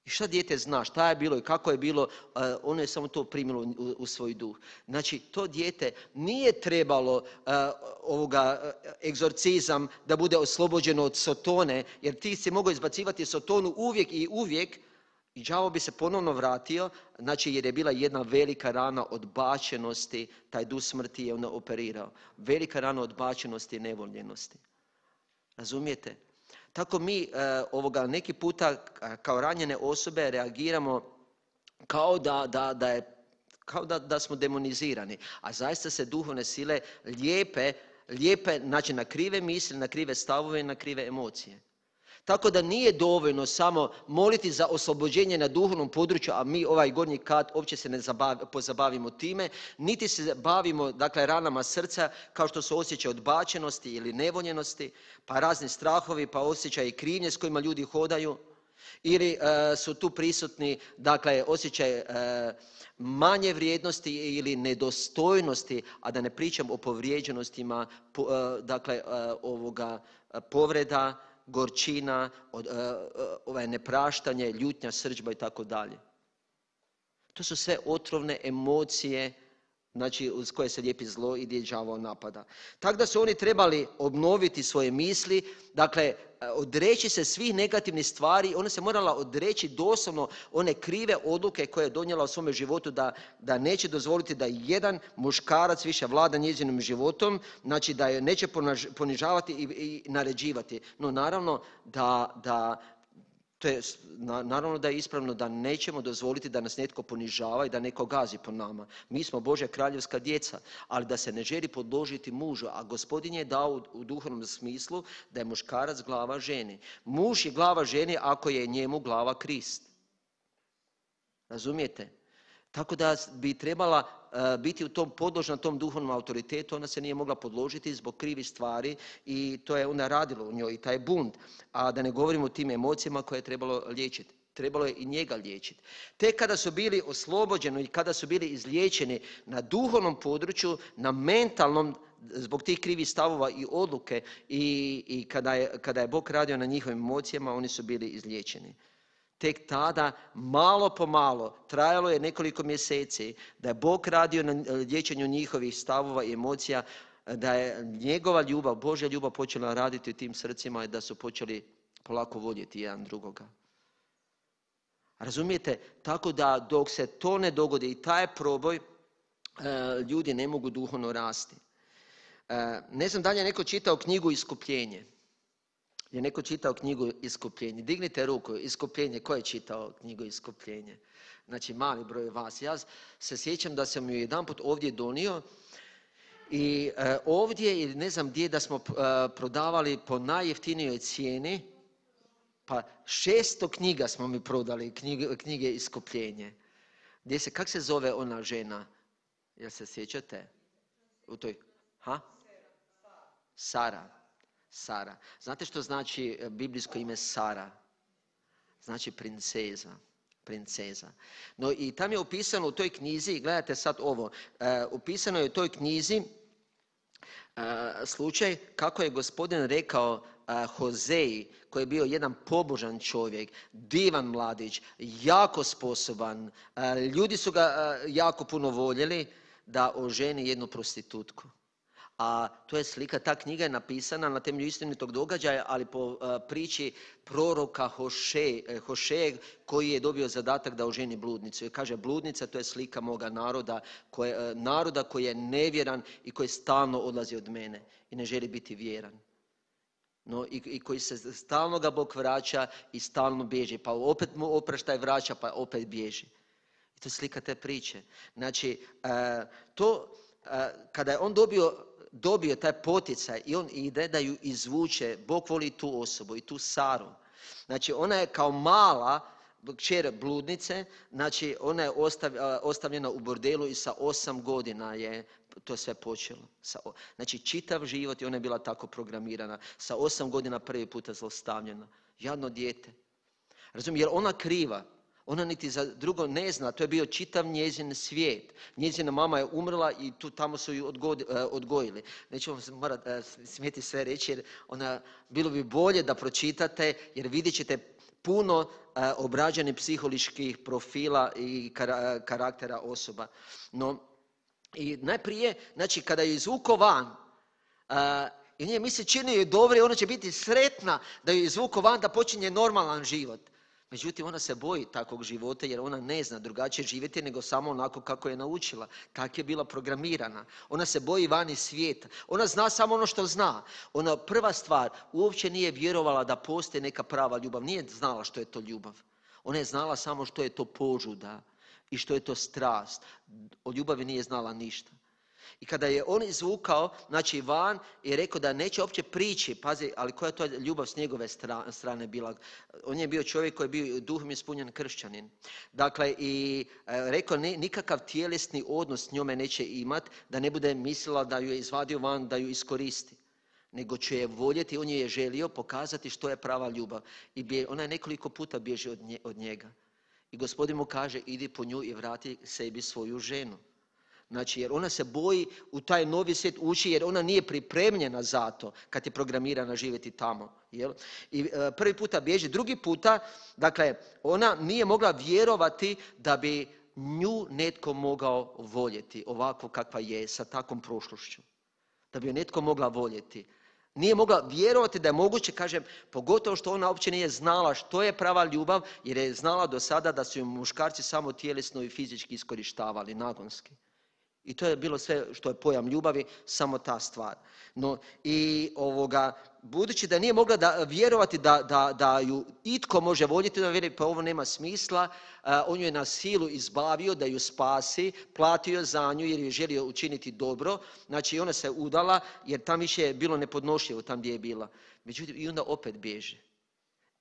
I šta dijete zna, šta je bilo i kako je bilo, ono je samo to primilo u svoj duh. Znači, to dijete nije trebalo egzorcizam da bude oslobođeno od sotone, jer ti si mogao izbacivati sotonu uvijek i uvijek i đavo bi se ponovno vratio, znači jer je bila jedna velika rana odbačenosti, taj duh smrti je onda operirao. Velika rana odbačenosti i nevoljenosti. Razumijete? Tako mi neki puta kao ranjene osobe reagiramo kao da smo demonizirani. A zaista se duhovne sile lijepe znači na krive misli, na krive stavove i na krive emocije. Tako da nije dovoljno samo moliti za oslobođenje na duhovnom području, a mi ovaj gornji kat uopće se ne pozabavimo time, niti se bavimo dakle, ranama srca kao što su osjećaj odbačenosti ili nevoljenosti, pa razni strahovi, pa osjećaj krivnje s kojima ljudi hodaju, ili su tu prisutni dakle, osjećaj manje vrijednosti ili nedostojnosti, a da ne pričam o povrijeđenostima, dakle, povreda, gorčina, nepraštanje, ljutnja, srdžba i tako dalje. To su sve otrovne emocije, znači uz koje se lijepi zlo i gdje đavo napada. Tako da su oni trebali obnoviti svoje misli, dakle odreći se svih negativnih stvari, ona se morala odreći doslovno one krive odluke koje je donijela u svome životu da neće dozvoliti da jedan muškarac više vlada njezinim životom, znači da je neće ponižavati i naređivati. No naravno naravno da je ispravno da nećemo dozvoliti da nas netko ponižava i da netko gazi po nama. Mi smo Božja kraljevska djeca, ali da se ne želi podložiti mužu, a Gospodin je dao u duhovnom smislu da je muškarac glava ženi. Muž je glava ženi ako je njemu glava Krist. Razumijete? Tako da bi trebala biti podložna tom duhovnom autoritetu, ona se nije mogla podložiti zbog krivih stvari i to je onda radilo u njoj i taj bunt. A da ne govorimo o tim emocijama koje je trebalo liječiti. Trebalo je i njega liječiti. Tek kada su bili oslobođeni i kada su bili izliječeni na duhovnom području, na mentalnom, zbog tih krivih stavova i odluke i kada je Bog radio na njihovim emocijama, oni su bili izliječeni. tek tada, malo po malo, trajalo je nekoliko mjeseci, da je Bog radio na liječenju njihovih stavova i emocija, da je njegova ljubav, Božja ljubav počela raditi u tim srcima i da su počeli polako voljeti jedan drugoga. Razumijete? Tako da dok se to ne dogodi i taj proboj, ljudi ne mogu duhovno rasti. Ne znam da li je neko čitao knjigu Iskupljenje. Je neko čitao knjigu Iskupljenje? Dignite ruku, Iskupljenje. Ko je čitao knjigu Iskupljenje? Znači mali broj vas. Ja se sjećam da sam ju jedanput ovdje donio i ovdje ili ne znam gdje da smo prodavali po najjeftinijoj cijeni, pa 600 knjiga smo mi prodali, knjige Iskupljenje. Kak se zove ona žena? Jel se sjećate? U toj, Sara. Znate što znači biblijsko ime Sara? Znači princeza. No i tam je opisano u toj knjizi, gledajte sad ovo, opisano je u toj knjizi slučaj kako je gospodin rekao Hozeji, koji je bio jedan pobožan čovjek, divan mladić, jako sposoban, ljudi su ga jako puno voljeli, da oženi jednu prostitutku. A to je slika, ta knjiga je napisana na temelju istinitog događaja, ali po priči proroka Hošeje koji je dobio zadatak da oženi bludnicu. I kaže, bludnica to je slika moga naroda koji je nevjeran i koji stalno odlazi od mene i ne želi biti vjeran. No, i koji se stalno ga Bog vraća i stalno bježi, pa opet mu oprašta i vraća, pa opet bježi. I to je slika te priče. Znači, kada je on dobio taj poticaj i on ide da ju izvuče, Bog voli tu osobu i tu Saru. Znači, ona je kao mala kćer bludnice, znači ona je ostavljena u bordelu i sa 8 godina je to sve počelo. Znači, čitav život i ona je bila tako programirana. Sa 8 godina prvi puta zlostavljena. Jadno dijete. Razumijem, jer ona kriva. Ona niti za drugo ne zna, to je bio čitav njezin svijet. Njezina mama je umrla i tamo su ju odgojili. Neću vam smjeti sve reći jer bilo bi bolje da pročitate jer vidjet ćete puno obrađenih psiholoških profila i karaktera osoba. No, i najprije, znači kada je izvuko van, i nje mi se čini joj dobro i ona će biti sretna da ju izvuko van da počinje normalan život. Međutim, ona se boji takvog života jer ona ne zna drugačije živjeti nego samo onako kako je naučila. Tako je bila programirana. Ona se boji vani svijeta. Ona zna samo ono što zna. Ona prva stvar, uopće nije vjerovala da postoji neka prava ljubav. Nije znala što je to ljubav. Ona je znala samo što je to požuda i što je to strast. O ljubavi nije znala ništa. I kada je on izvukao, znači van, i rekao da neće uopće prići, pazi, ali koja je to ljubav s njegove strane bila? On je bio čovjek koji je bio duhom ispunjen kršćanin. Dakle, i rekao nikakav tjelesni odnos s njome neće imat, da ne bude mislila da ju je izvadio van, da ju iskoristi. Nego će je voljeti, on je želio pokazati što je prava ljubav. I ona je nekoliko puta bježi od njega. I gospodin mu kaže, idi po nju i vrati sebi svoju ženu. Znači, jer ona se boji u taj novi svijet ući, jer ona nije pripremljena za to kad je programirana živjeti tamo. Jel? I prvi puta bježi, drugi puta, dakle, ona nije mogla vjerovati da bi nju netko mogao voljeti ovako kakva je, sa takvom prošlošću. Da bi ju netko mogla voljeti. Nije mogla vjerovati da je moguće, kažem, pogotovo što ona uopće nije znala što je prava ljubav, jer je znala do sada da su ju muškarci samo tjelesno i fizički iskorištavali, nagonski. I to je bilo sve što je pojam ljubavi, samo ta stvar. No, i budući da nije mogla vjerovati da ju itko može voljeti, da vjeri, pa ovo nema smisla, on ju je na silu izbavio da ju spasi, platio za nju jer je želio učiniti dobro. Znači, ona se udala jer tam više je bilo nepodnošljivo tam gdje je bila. Međutim, i onda opet bježi.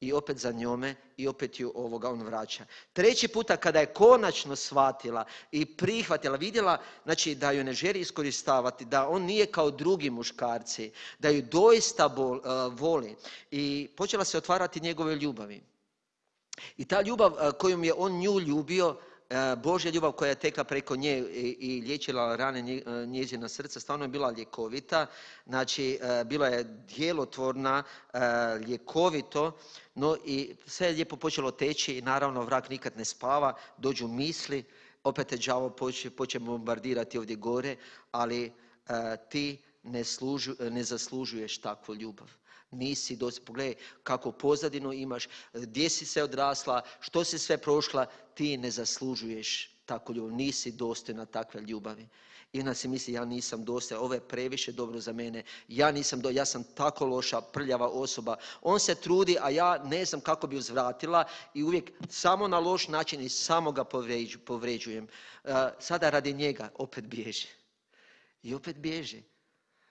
I opet za njome i opet ju on vraća. Treći puta kada je konačno shvatila i prihvatila, vidjela, znači da ju ne želi iskoristavati, da on nije kao drugi muškarci, da ju doista voli i počela se otvarati njegove ljubavi. I ta ljubav kojom je on nju ljubio Božja ljubav koja je tekla preko nje i liječila rane njezina srca, stvarno je bila ljekovita. Znači, bila je djelotvorna, ljekovito, no i sve je lijepo počelo teći i naravno vrag nikad ne spava, dođu misli, opet je đavo počne bombardirati ovdje gore, ali ti ne zaslužuješ takvu ljubav. Nisi pogledaj kako pozadinu imaš, gdje si se odrasla, što si sve prošla, ti ne zaslužuješ takvu ljubav, nisi dostojna takve ljubavi. I onda si misli, ja nisam dostojan, ovo je previše dobro za mene, ja sam tako loša, prljava osoba. On se trudi, a ja ne znam kako bi uzvratila i uvijek samo na loš način i samo ga povređujem. Sada radi njega opet bježi. I opet bježi.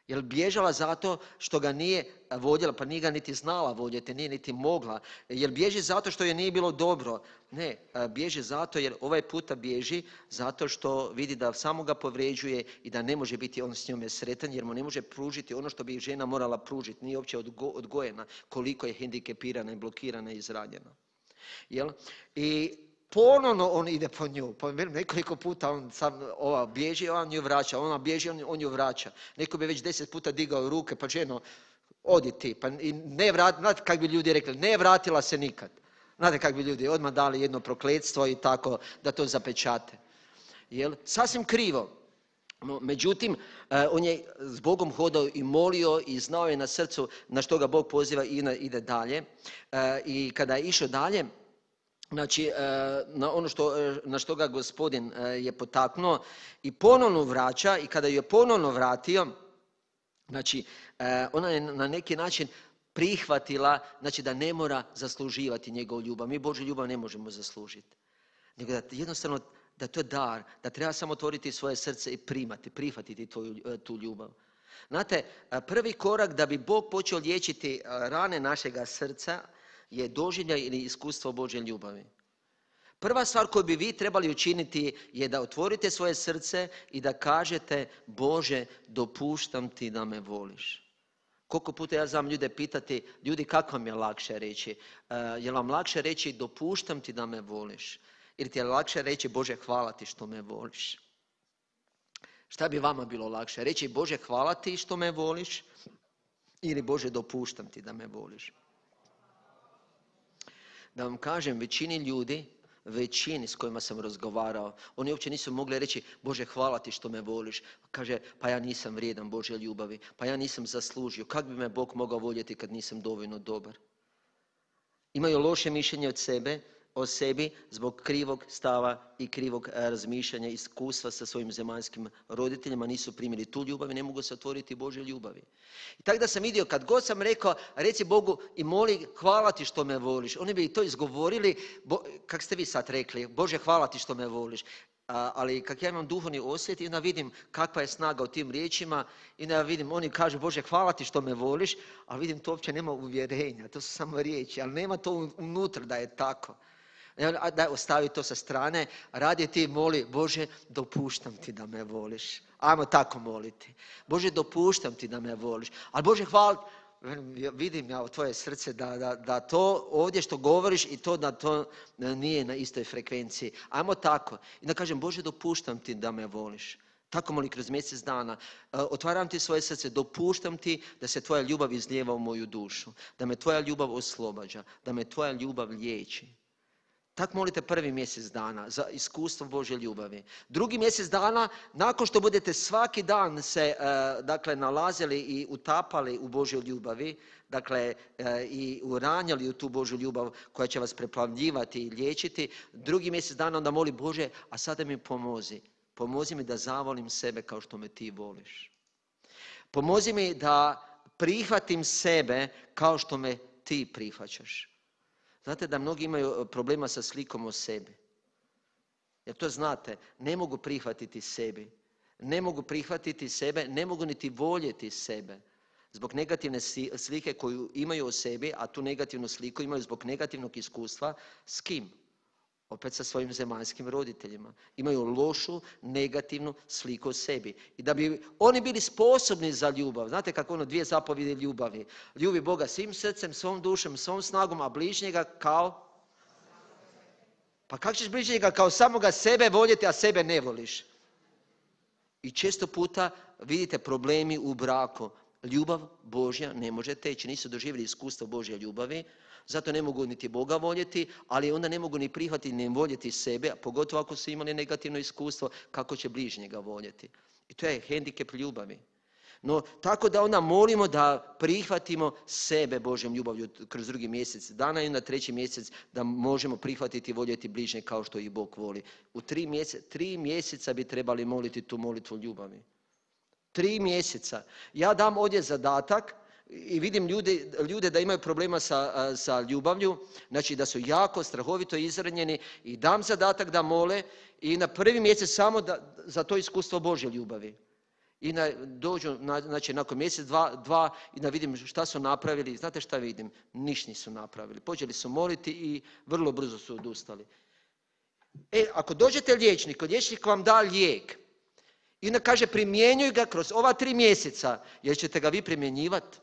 Jer bježala zato što ga nije voljela, pa nije ga niti znala voljeti, nije niti mogla. Jer bježi zato što je nije bilo dobro. Ne, bježi zato jer ovaj puta bježi zato što vidi da samo ga povređuje i da ne može biti on s njome sretan jer mu ne može pružiti ono što bi žena morala pružiti. Nije uopće odgojena koliko je hendikepirana i blokirana i izranjena. Jel? I ponovno on ide po nju. Nekoliko puta ova bježi, on ju vraća. Ona bježi, on ju vraća. Neko bi već 10 puta digao ruke, pa ženo, odi ti. Pa znate kako bi ljudi rekli, ne vratila se nikad. Znate kako bi ljudi odmah dali jedno prokletstvo i tako da to zapečate. Jel? Sasvim krivo. No, međutim, on je s Bogom hodao i molio i znao je na srcu na što ga Bog poziva i ide dalje. I kada je išao dalje, znači, na ono na što ga Gospodin je potaknuo i ponovno vraća i kada ju je ponovno vratio, znači, ona je na neki način prihvatila, znači da ne mora zasluživati njegovu ljubav. Mi Božju ljubav ne možemo zaslužiti. Nego da jednostavno, da to je dar, da treba samo otvoriti svoje srce i prihvatiti tu ljubav. Znate, prvi korak da bi Bog počeo liječiti rane našega srca, je doživljaj ili iskustvo Božje ljubavi. Prva stvar koju bi vi trebali učiniti je da otvorite svoje srce i da kažete Bože, dopuštam ti da me voliš. Koliko puta ja znam ljude pitati, ljudi kako vam je lakše reći? Je vam lakše reći dopuštam ti da me voliš? Ili ti je lakše reći Bože hvala ti što me voliš? Šta bi vama bilo lakše? Reći Bože hvala ti što me voliš ili Bože dopuštam ti da me voliš? Da vam kažem, većini s kojima sam razgovarao, oni uopće nisu mogli reći Bože hvala ti što me voliš. Kaže, pa ja nisam vrijedan Božje ljubavi, pa ja nisam zaslužio. Kako bi me Bog mogao voljeti kad nisam dovoljno dobar? Imaju loše mišljenje o sebi zbog krivog stava i krivog razmišljanja, iskustva sa svojim zemaljskim roditeljima, nisu primili tu ljubav i ne mogu se otvoriti Božje ljubavi. I tako da sam vidio, kad god sam rekao, reci Bogu i moli, hvala ti što me voliš. Oni bi to izgovorili, kak ste vi sad rekli, Bože hvala ti što me voliš. Ali kak ja imam duhovni osjet i onda vidim kakva je snaga u tim riječima i onda vidim, oni kažu Bože hvala ti što me voliš, ali vidim to uopće nema uvjerenja, to su samo riječi, ali nema to unutra da je tako. Da ostavi to sa strane, radi ti moli, Bože dopuštam ti da me voliš. Ajmo tako moliti. Bože dopuštam ti da me voliš. Ali Bože hvala, vidim ja u tvoje srce da to ovdje što govoriš i to da to nije na istoj frekvenciji. Ajmo tako. I da kažem Bože dopuštam ti da me voliš. Tako moli kroz mjesec dana. Otvaram ti svoje srce, dopuštam ti da se tvoja ljubav izlijeva u moju dušu. Da me tvoja ljubav oslobađa. Da me tvoja ljubav liječi. Tako molite prvi mjesec dana za iskustvo Božje ljubavi. Drugi mjesec dana, nakon što budete svaki dan se nalazili i utapali u Božjoj ljubavi, i uranjali u tu Božju ljubav koja će vas preplavljivati i liječiti, drugi mjesec dana onda moli Bože, a sada mi pomozi. Pomozi mi da zavolim sebe kao što me ti voliš. Pomozi mi da prihvatim sebe kao što me ti prihvaćaš. Znate da mnogi imaju problema sa slikom o sebi. Jer to znate, ne mogu prihvatiti sebi. Ne mogu prihvatiti sebe, ne mogu niti voljeti sebe. Zbog negativne slike koju imaju o sebi, a tu negativnu sliku imaju zbog negativnog iskustva, s kim? Opet sa svojim zemaljskim roditeljima. Imaju lošu, negativnu sliku o sebi. I da bi oni bili sposobni za ljubav. Znate kako 2 zapovjedi ljubavi. Ljubi Boga svim srcem, svom dušom, svom snagom, a bližnjega kao Pa kako ćeš bližnjega kao samoga sebe voljeti, a sebe ne voliš? I često puta vidite problemi u braku. Ljubav Božja ne može teći, nisu doživjeli iskustvo Božje ljubavi, zato ne mogu niti Boga voljeti, ali onda ne mogu ni prihvatiti ni voljeti sebe, a pogotovo ako su imali negativno iskustvo, kako će bližnjega voljeti. I to je hendikep ljubavi. No, tako da onda molimo da prihvatimo sebe Božjom ljubavlju kroz 2. mjesec dana i na 3. mjesec da možemo prihvatiti i voljeti bližnje kao što ih Bog voli. U 3 mjeseca bi trebali moliti tu molitvu ljubavi. 3 mjeseca. Ja dam ovdje zadatak i vidim ljude da imaju problema sa ljubavlju, znači da su jako strahovito izranjeni i dam zadatak da mole i na 1. mjesec samo za to iskustvo Božje ljubavi. I dođu, znači nakon mjesec, dva i da vidim šta su napravili. Znate šta vidim? Ništa nisu napravili. Počeli su moliti i vrlo brzo su odustali. Ako dođete liječnik vam da lijek i onda kaže primjenjuj ga kroz ova 3 mjeseca, jer ćete ga vi primjenjivati.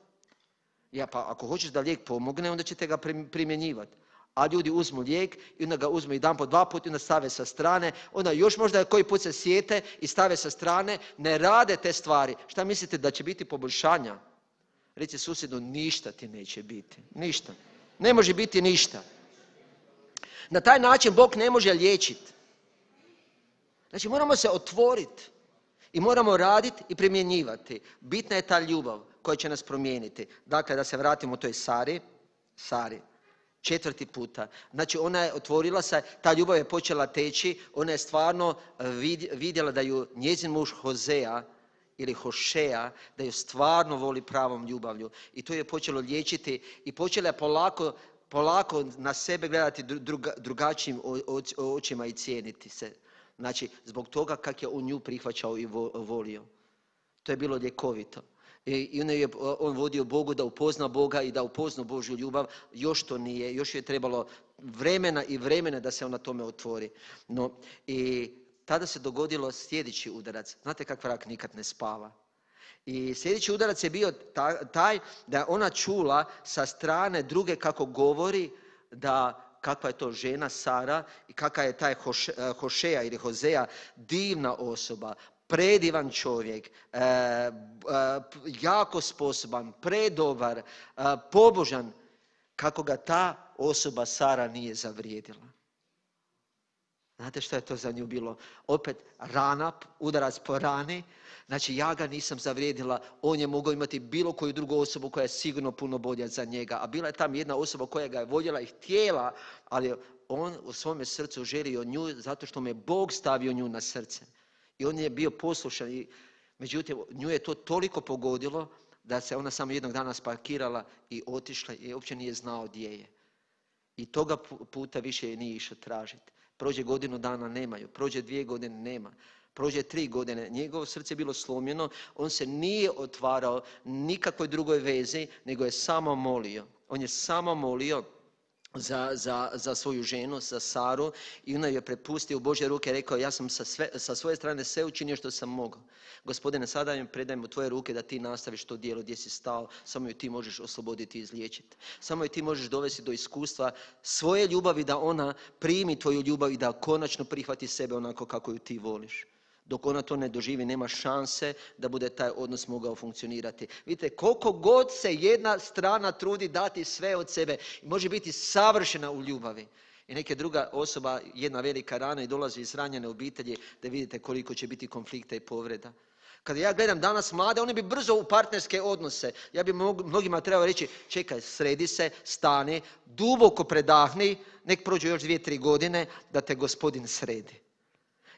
Pa ako hoćeš da lijek pomogne, onda ćete ga primjenjivati. A ljudi uzmu lijek i onda ga uzmu jedan po 2 puta i onda stave sa strane. Onda još možda koji put se sjete i stave sa strane. Ne rade te stvari. Šta mislite da će biti poboljšanja? Reci susjedu, ništa ti neće biti. Ništa. Ne može biti ništa. Na taj način Bog ne može liječiti. Znači moramo se otvoriti. I moramo raditi i primjenjivati. Bitna je ta ljubav koja će nas promijeniti. Dakle, da se vratimo toj Sari. 4. puta. Znači ona je otvorila se, ta ljubav je počela teći, ona je stvarno vidjela da ju njezin muž Hozea ili Hošeja, da ju stvarno voli pravom ljubavlju. I to je počelo liječiti i počela je polako na sebe gledati drugačijim očima i cijeniti se. Znači, zbog toga kako je on nju prihvaćao i volio. To je bilo ljekovito. I onda je on vodio Bogu da upozna Boga i da upozna Božju ljubav. Još to nije, još je trebalo vremena da se on na tome otvori. No, i tada se dogodilo sljedeći udarac. Znate kak vrak nikad ne spava. I sljedeći udarac je bio taj da je ona čula sa strane druge kako govori da kakva je to žena Sara i kakva je taj Hošeja ili Hozea divna osoba, predivan čovjek, jako sposoban, predobar, pobožan, kako ga ta osoba Sara nije zavrijedila. Znate što je to za nju bilo? Opet rana, udarac po rani. Znači ja ga nisam zavrijedila, on je mogao imati bilo koju drugu osobu koja je sigurno puno bolja za njega. A bila je tam jedna osoba koja ga je voljela i htjela, ali on u svome srcu želio nju zato što mu je Bog stavio nju na srce. I on je bio poslušan. Međutim, nju je to toliko pogodilo da se ona samo jednog dana spakirala i otišla i uopće nije znao gdje je. I toga puta više je nije išao tražiti. Prođe 1 dana, nema ju. Prođe 2 godine, nema. Prođe 3 godine. Njegovo srce je bilo slomljeno. On se nije otvarao nikakvoj drugoj vezi, nego je samo molio. On je samo molio za svoju ženu, za Saru, i ona je prepustio u Božje ruke i rekao, ja sam sa svoje strane sve učinio što sam mogao. Gospodine, sada im predajem u tvoje ruke da ti nastaviš to djelo gdje si stao, samo ju ti možeš osloboditi i izliječiti. Samo ju ti možeš dovesti do iskustva svoje ljubavi, da ona primi tvoju ljubav i da konačno prihvati sebe onako kako ju ti voliš. Dok ona to ne doživi, nema šanse da bude taj odnos mogao funkcionirati. Vidite, koliko god se jedna strana trudi dati sve od sebe, može biti savršena u ljubavi. I neka druga osoba, jedna velika rana i dolazi iz ranjene obitelji, da vidite koliko će biti konflikta i povreda. Kada ja gledam danas mlade, oni bi brzo u partnerske odnose. Ja bi mnogima trebao reći, čekaj, sredi se, stani, duboko predahni, nek prođu još 2-3 godine da te Gospodin sredi.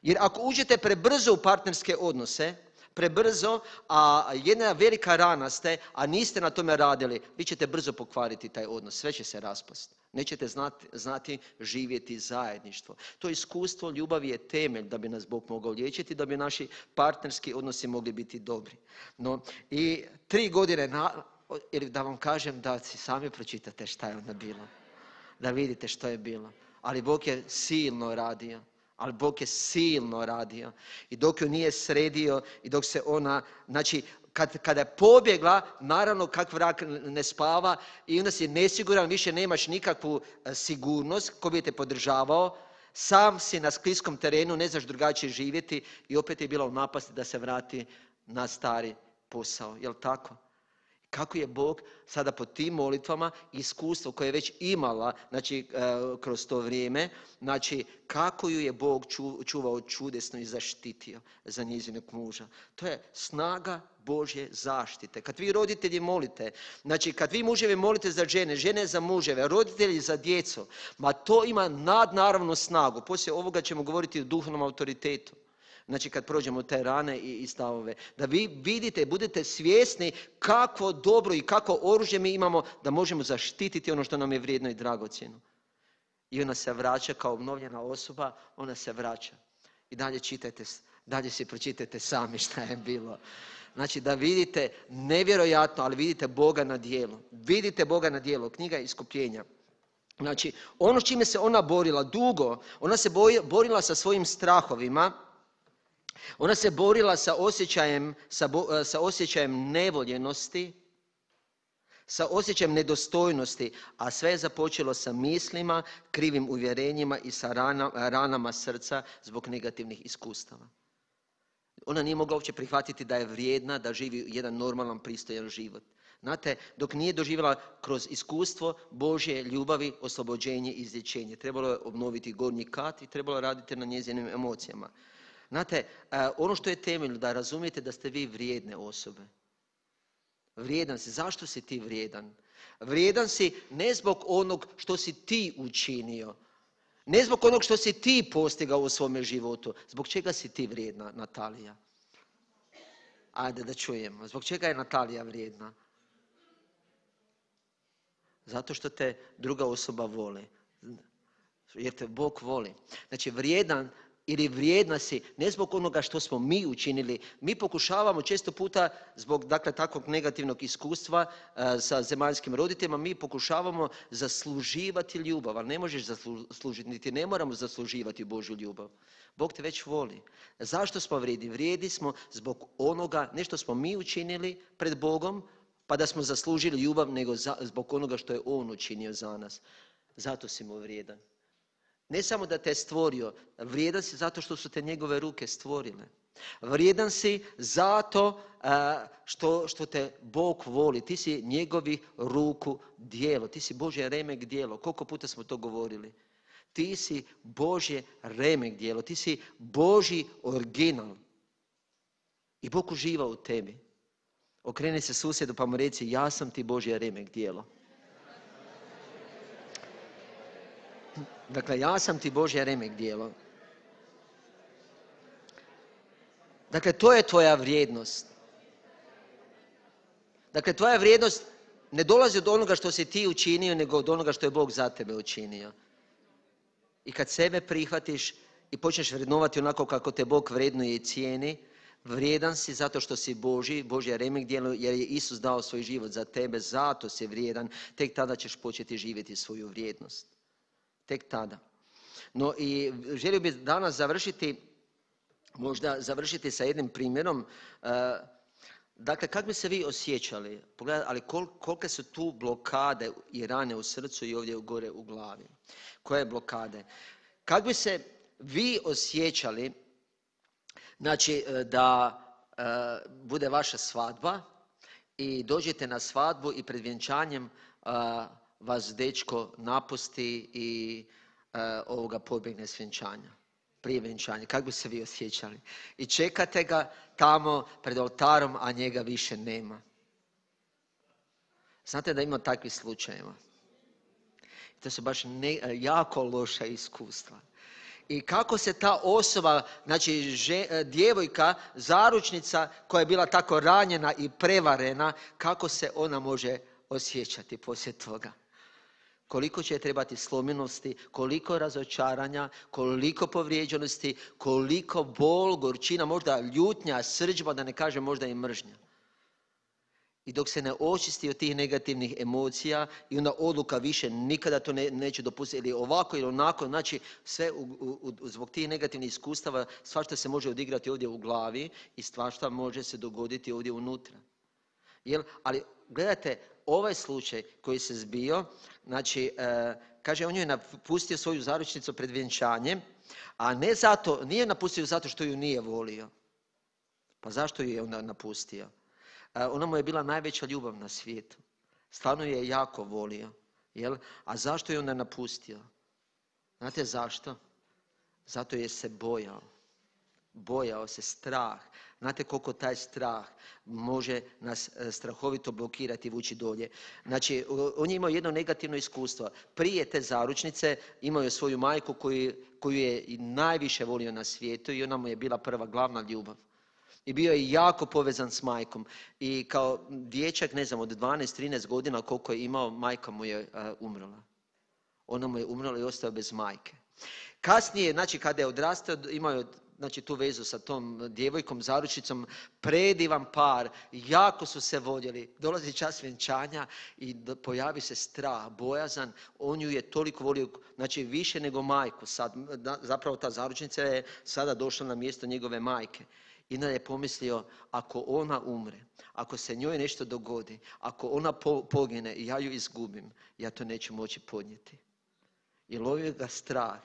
Jer ako uđete prebrzo u partnerske odnose, prebrzo, a jedna velika rana ste, a niste na tome radili, vi ćete brzo pokvariti taj odnos, sve će se raspasti. Nećete znati živjeti zajedništvo. To iskustvo ljubavi je temelj da bi nas Bog mogao liječiti, da bi naši partnerski odnosi mogli biti dobri. No, i 3 godine, ili da vam kažem da si sami pročitate šta je onda bilo. Da vidite što je bilo. Ali Bog je silno radio. Ali Bog je silno radio. I dok ju nije sredio i dok se ona, znači, kada je pobjegla, naravno kak vrak ne spava i onda si nesiguran, više nemaš nikakvu sigurnost, ko bi te podržavao, sam si na skliskom terenu, ne znaš drugačije živjeti i opet je bila u napasti da se vrati na stari posao. Jel tako? Kako je Bog sada po tim molitvama, iskustvo koje je već imala, znači kroz to vrijeme, znači kako ju je Bog čuvao čudesno i zaštitio za njezinog muža. To je snaga Božje zaštite. Kad vi roditelji molite, znači kad vi muževi molite za žene, žene za muževe, roditelji za djecu, ma to ima nadnaravnu snagu. Poslije ovoga ćemo govoriti o duhovnom autoritetu. Znači kad prođemo te rane i stavove. Da vi vidite, budete svjesni kakvo dobro i kakvo oružje mi imamo da možemo zaštititi ono što nam je vrijedno i dragocjeno. I ona se vraća kao obnovljena osoba, ona se vraća. I dalje čitajte, dalje si pročitajte sami šta je bilo. Znači da vidite nevjerojatno, ali vidite Boga na djelu. Vidite Boga na djelu. Knjiga Iskupljenja. Znači ono s čime se ona borila dugo, ona se borila sa svojim strahovima. Ona se borila sa osjećajem nevoljenosti, sa osjećajem nedostojnosti, a sve je započelo sa mislima, krivim uvjerenjima i sa ranama srca zbog negativnih iskustava. Ona nije mogla uopće prihvatiti da je vrijedna, da živi jedan normalan, pristojan život. Znate, dok nije doživjela kroz iskustvo Božje ljubavi, oslobođenje i izlječenje. Trebalo je obnoviti gornji kat i trebalo raditi na njezinim emocijama. Znate, ono što je temeljno da razumijete da ste vi vrijedne osobe. Vrijedan si. Zašto si ti vrijedan? Vrijedan si ne zbog onog što si ti učinio. Ne zbog onog što si ti postigao u svome životu. Zbog čega si ti vrijedna, Natalija? Ajde da čujemo. Zbog čega je Natalija vrijedna? Zato što te druga osoba voli. Jer te Bog voli. Znači, vrijedan ili vrijedna si ne zbog onoga što smo mi učinili. Mi pokušavamo često puta zbog takvog negativnog iskustva sa zemaljskim roditeljima, mi pokušavamo zasluživati ljubav, ali ne možeš zaslužiti, niti ne moramo zasluživati Božju ljubav. Bog te već voli. Zašto smo vrijedni? Vrijedni smo zbog onoga, ne što smo mi učinili pred Bogom, pa da smo zaslužili ljubav, nego zbog onoga što je On učinio za nas. Zato si mu vrijedan. Ne samo da te je stvorio, vrijedan si zato što su te njegove ruke stvorile. Vrijedan si zato što te Bog voli. Ti si njegovi ruku djelo. Ti si Božje remek djelo. Koliko puta smo to govorili? Ti si Božje remek djelo. Ti si Božji original. I Bog uživa u tebi. Okreni se susjedu pa mu reci, ja sam ti Božje remek djelo. Dakle, ja sam ti Božje remek djelo. Dakle, to je tvoja vrijednost. Dakle, tvoja vrijednost ne dolazi od onoga što si ti učinio, nego od onoga što je Bog za tebe učinio. I kad sebe prihvatiš i počneš vrednovati onako kako te Bog vrednuje i cijeni, vrijedan si zato što si Božje remek djelo, jer je Isus dao svoj život za tebe, zato si vrijedan. Tek tada ćeš početi živjeti svoju vrijednost. Tek tada. No i želio bih danas završiti sa jednim primjerom. Dakle, kako bi se vi osjećali? Pogledajte, ali kolike su tu blokade i rane u srcu i ovdje gore u glavi? Koje blokade? Kako bi se vi osjećali, znači, da bude vaša svadba i dođete na svadbu i pred vjenčanjem vas dečko napusti i pobjegne s vjenčanja, prije vjenčanja. Kako bi se vi osjećali? I čekate ga tamo pred oltarom, a njega više nema. Znate da ima takvih slučajeva. To su baš jako loša iskustva. I kako se ta osoba, znači djevojka, zaručnica koja je bila tako ranjena i prevarena, kako se ona može osjećati poslije toga? Koliko će trebati slomljenosti, koliko razočaranja, koliko povrijeđenosti, koliko bol, gorčina, možda ljutnja, srdžba, da ne kažem možda i mržnja. I dok se ne očisti od tih negativnih emocija i onda odluka više nikada to neće dopustiti ili ovako ili onako, znači sve zbog tih negativnih iskustava svašta se može odigrati ovdje u glavi i svašta može se dogoditi ovdje unutra. Ali gledajte, ovaj slučaj koji se zbio, znači kaže, on ju je napustio svoju zaručnicu pred vjenčanjem, a ne zato, nije napustio zato što ju nije volio. Pa zašto ju je onda napustio? Ona mu je bila najveća ljubav na svijetu. Stvarno ju je jako volio. Jel? A zašto je onda napustio? Znate zašto? Zato je se bojao. Bojao se, strah. Znate koliko taj strah može nas strahovito blokirati i vući dolje. Znači, on je imao jedno negativno iskustvo. Prije te zaručnice imao je svoju majku koju je najviše volio na svijetu i ona mu je bila prva glavna ljubav. I bio je jako povezan s majkom. I kao dječak, ne znam, od 12-13 godina koliko je imao, majka mu je umrla. Ona mu je umrla i ostao bez majke. Kasnije, znači kada je odrastao, imao je znači tu vezu sa tom djevojkom, zaručnicom, predivan par, jako su se voljeli. Dolazi čas vjenčanja i pojavi se strah, bojazan. On ju je toliko volio, znači više nego majku. Sad, zapravo ta zaručnica je sada došla na mjesto njegove majke. I onda je pomislio, ako ona umre, ako se njoj nešto dogodi, ako ona pogine i ja ju izgubim, ja to neću moći podnijeti. I lovio ga strah.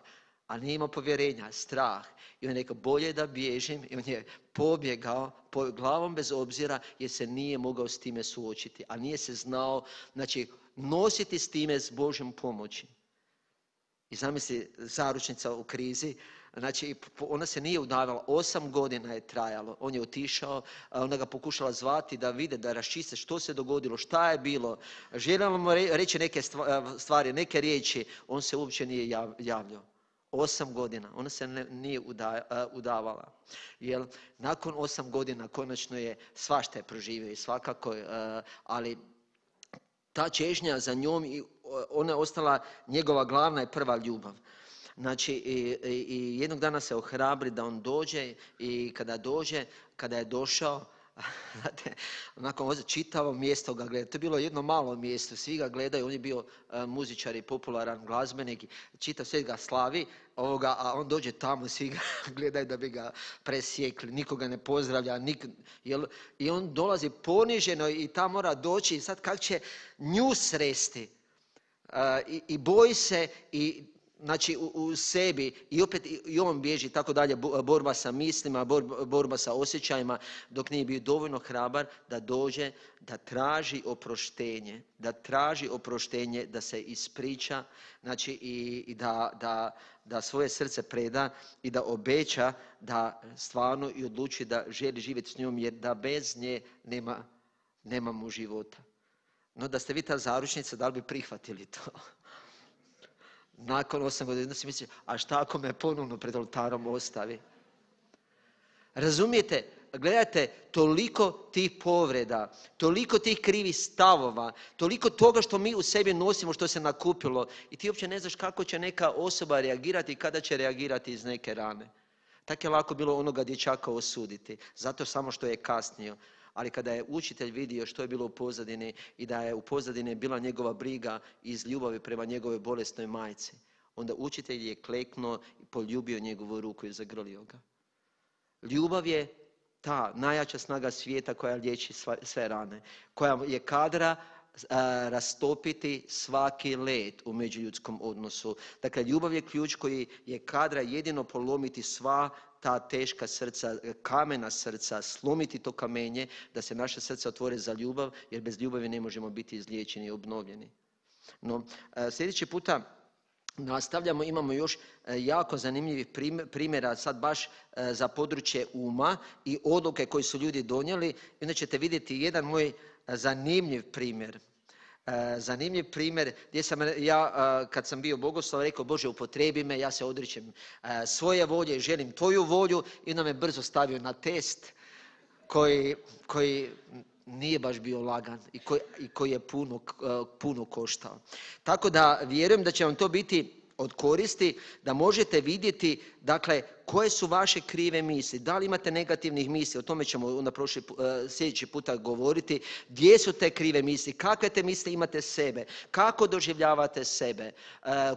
A nije imao povjerenja, strah. I on je rekao, bolje da bježim. I on je pobjegao glavom bez obzira jer se nije mogao s time suočiti. A nije se znao, znači, nositi s time s Božjom pomoći. I zamisli, zaručnica u krizi. Znači, ona se nije udavala, 8 godina je trajalo. On je otišao, ona ga pokušala zvati da vide, da raščiste što se dogodilo, šta je bilo. Željela mu reći neke stvari, neke riječi. On se uopće nije javljao. 8 godina. Ona se nije udavala. Jer nakon 8 godina konačno je svašta je proživio i svakako, ali ta čežnja za njom, ona je ostala njegova glavna i prva ljubav. Znači, i jednog dana se ohrabri da on dođe i kada je došao, znate, onako čitavo mjesto ga gleda. To je bilo jedno malo mjesto, svi ga gledaju, on je bio muzičar i popularan glazbenik, čitav svijet ga slavi, a on dođe tamo, svi ga gledaju da bi ga presjekli, nikoga ne pozdravlja, i on dolazi poniženo i tamo mora doći i sad kako će nju sresti. I boji se i znači u sebi i opet i on bježi tako dalje, borba sa mislima, borba sa osjećajima, dok nije bio dovoljno hrabar da dođe, da traži oproštenje, da se ispriča, znači i da svoje srce preda i da obeća da stvarno i odluči da želi živjeti s njom jer da bez nje nemamo života. No da ste vi ta zaručnica, da li bi prihvatili to? Nakon 8 godina si misli, a šta ako me ponovno pred oltarom ostavi? Razumijete, gledajte, toliko tih povreda, toliko tih krivih stavova, toliko toga što mi u sebi nosimo, što se nakupilo i ti uopće ne znaš kako će neka osoba reagirati i kada će reagirati iz neke rane. Tako je lako bilo onoga dječaka osuditi, zato samo što je kasnio. Ali kada je učitelj vidio što je bilo u pozadini i da je u pozadini bila njegova briga iz ljubavi prema njegovoj bolesnoj majci, onda učitelj je kleknuo i poljubio njegovu ruku i zagrlio ga. Ljubav je ta najjača snaga svijeta koja liječi sve rane, koja je kadra rastopiti svaki led u međuljudskom odnosu. Dakle, ljubav je ključ koji je kadra jedino polomiti sva ta teška srca, kamena srca, slomiti to kamenje, da se naše srca otvore za ljubav, jer bez ljubavi ne možemo biti izliječeni i obnovljeni. No, sljedeći puta nastavljamo, imamo još jako zanimljivih primjera, sad baš za područje uma i odluke koje su ljudi donijeli. I onda ćete vidjeti jedan moj zanimljiv primjer. Zanimljiv primjer gdje sam ja, kad sam bio bogoslov, rekao, Bože, upotrebi me, ja se odričem svoje volje, želim tvoju volju, i onda me brzo stavio na test koji nije baš bio lagan i koji je puno koštao. Tako da vjerujem da će vam to biti od koristi, da možete vidjeti, dakle, koje su vaše krive misli, da li imate negativnih misli, o tome ćemo onda sljedeći puta govoriti, gdje su te krive misli, kakve te misli imate sebe, kako doživljavate sebe,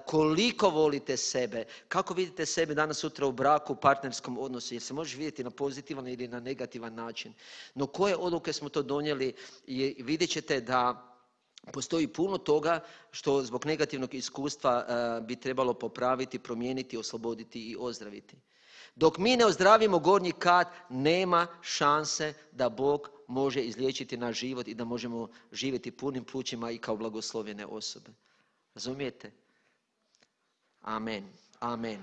koliko volite sebe, kako vidite sebe danas sutra u braku, u partnerskom odnosu, jer se možeš vidjeti na pozitivan ili na negativan način. No koje odluke smo to donijeli i vidjet ćete da Postoji puno toga što zbog negativnog iskustva bi trebalo popraviti, promijeniti, osloboditi i ozdraviti. Dok mi ne ozdravimo gornji kat, nema šanse da Bog može izliječiti naš život i da možemo živjeti punim plućima i kao blagoslovljene osobe. Razumijete? Amen. Amen.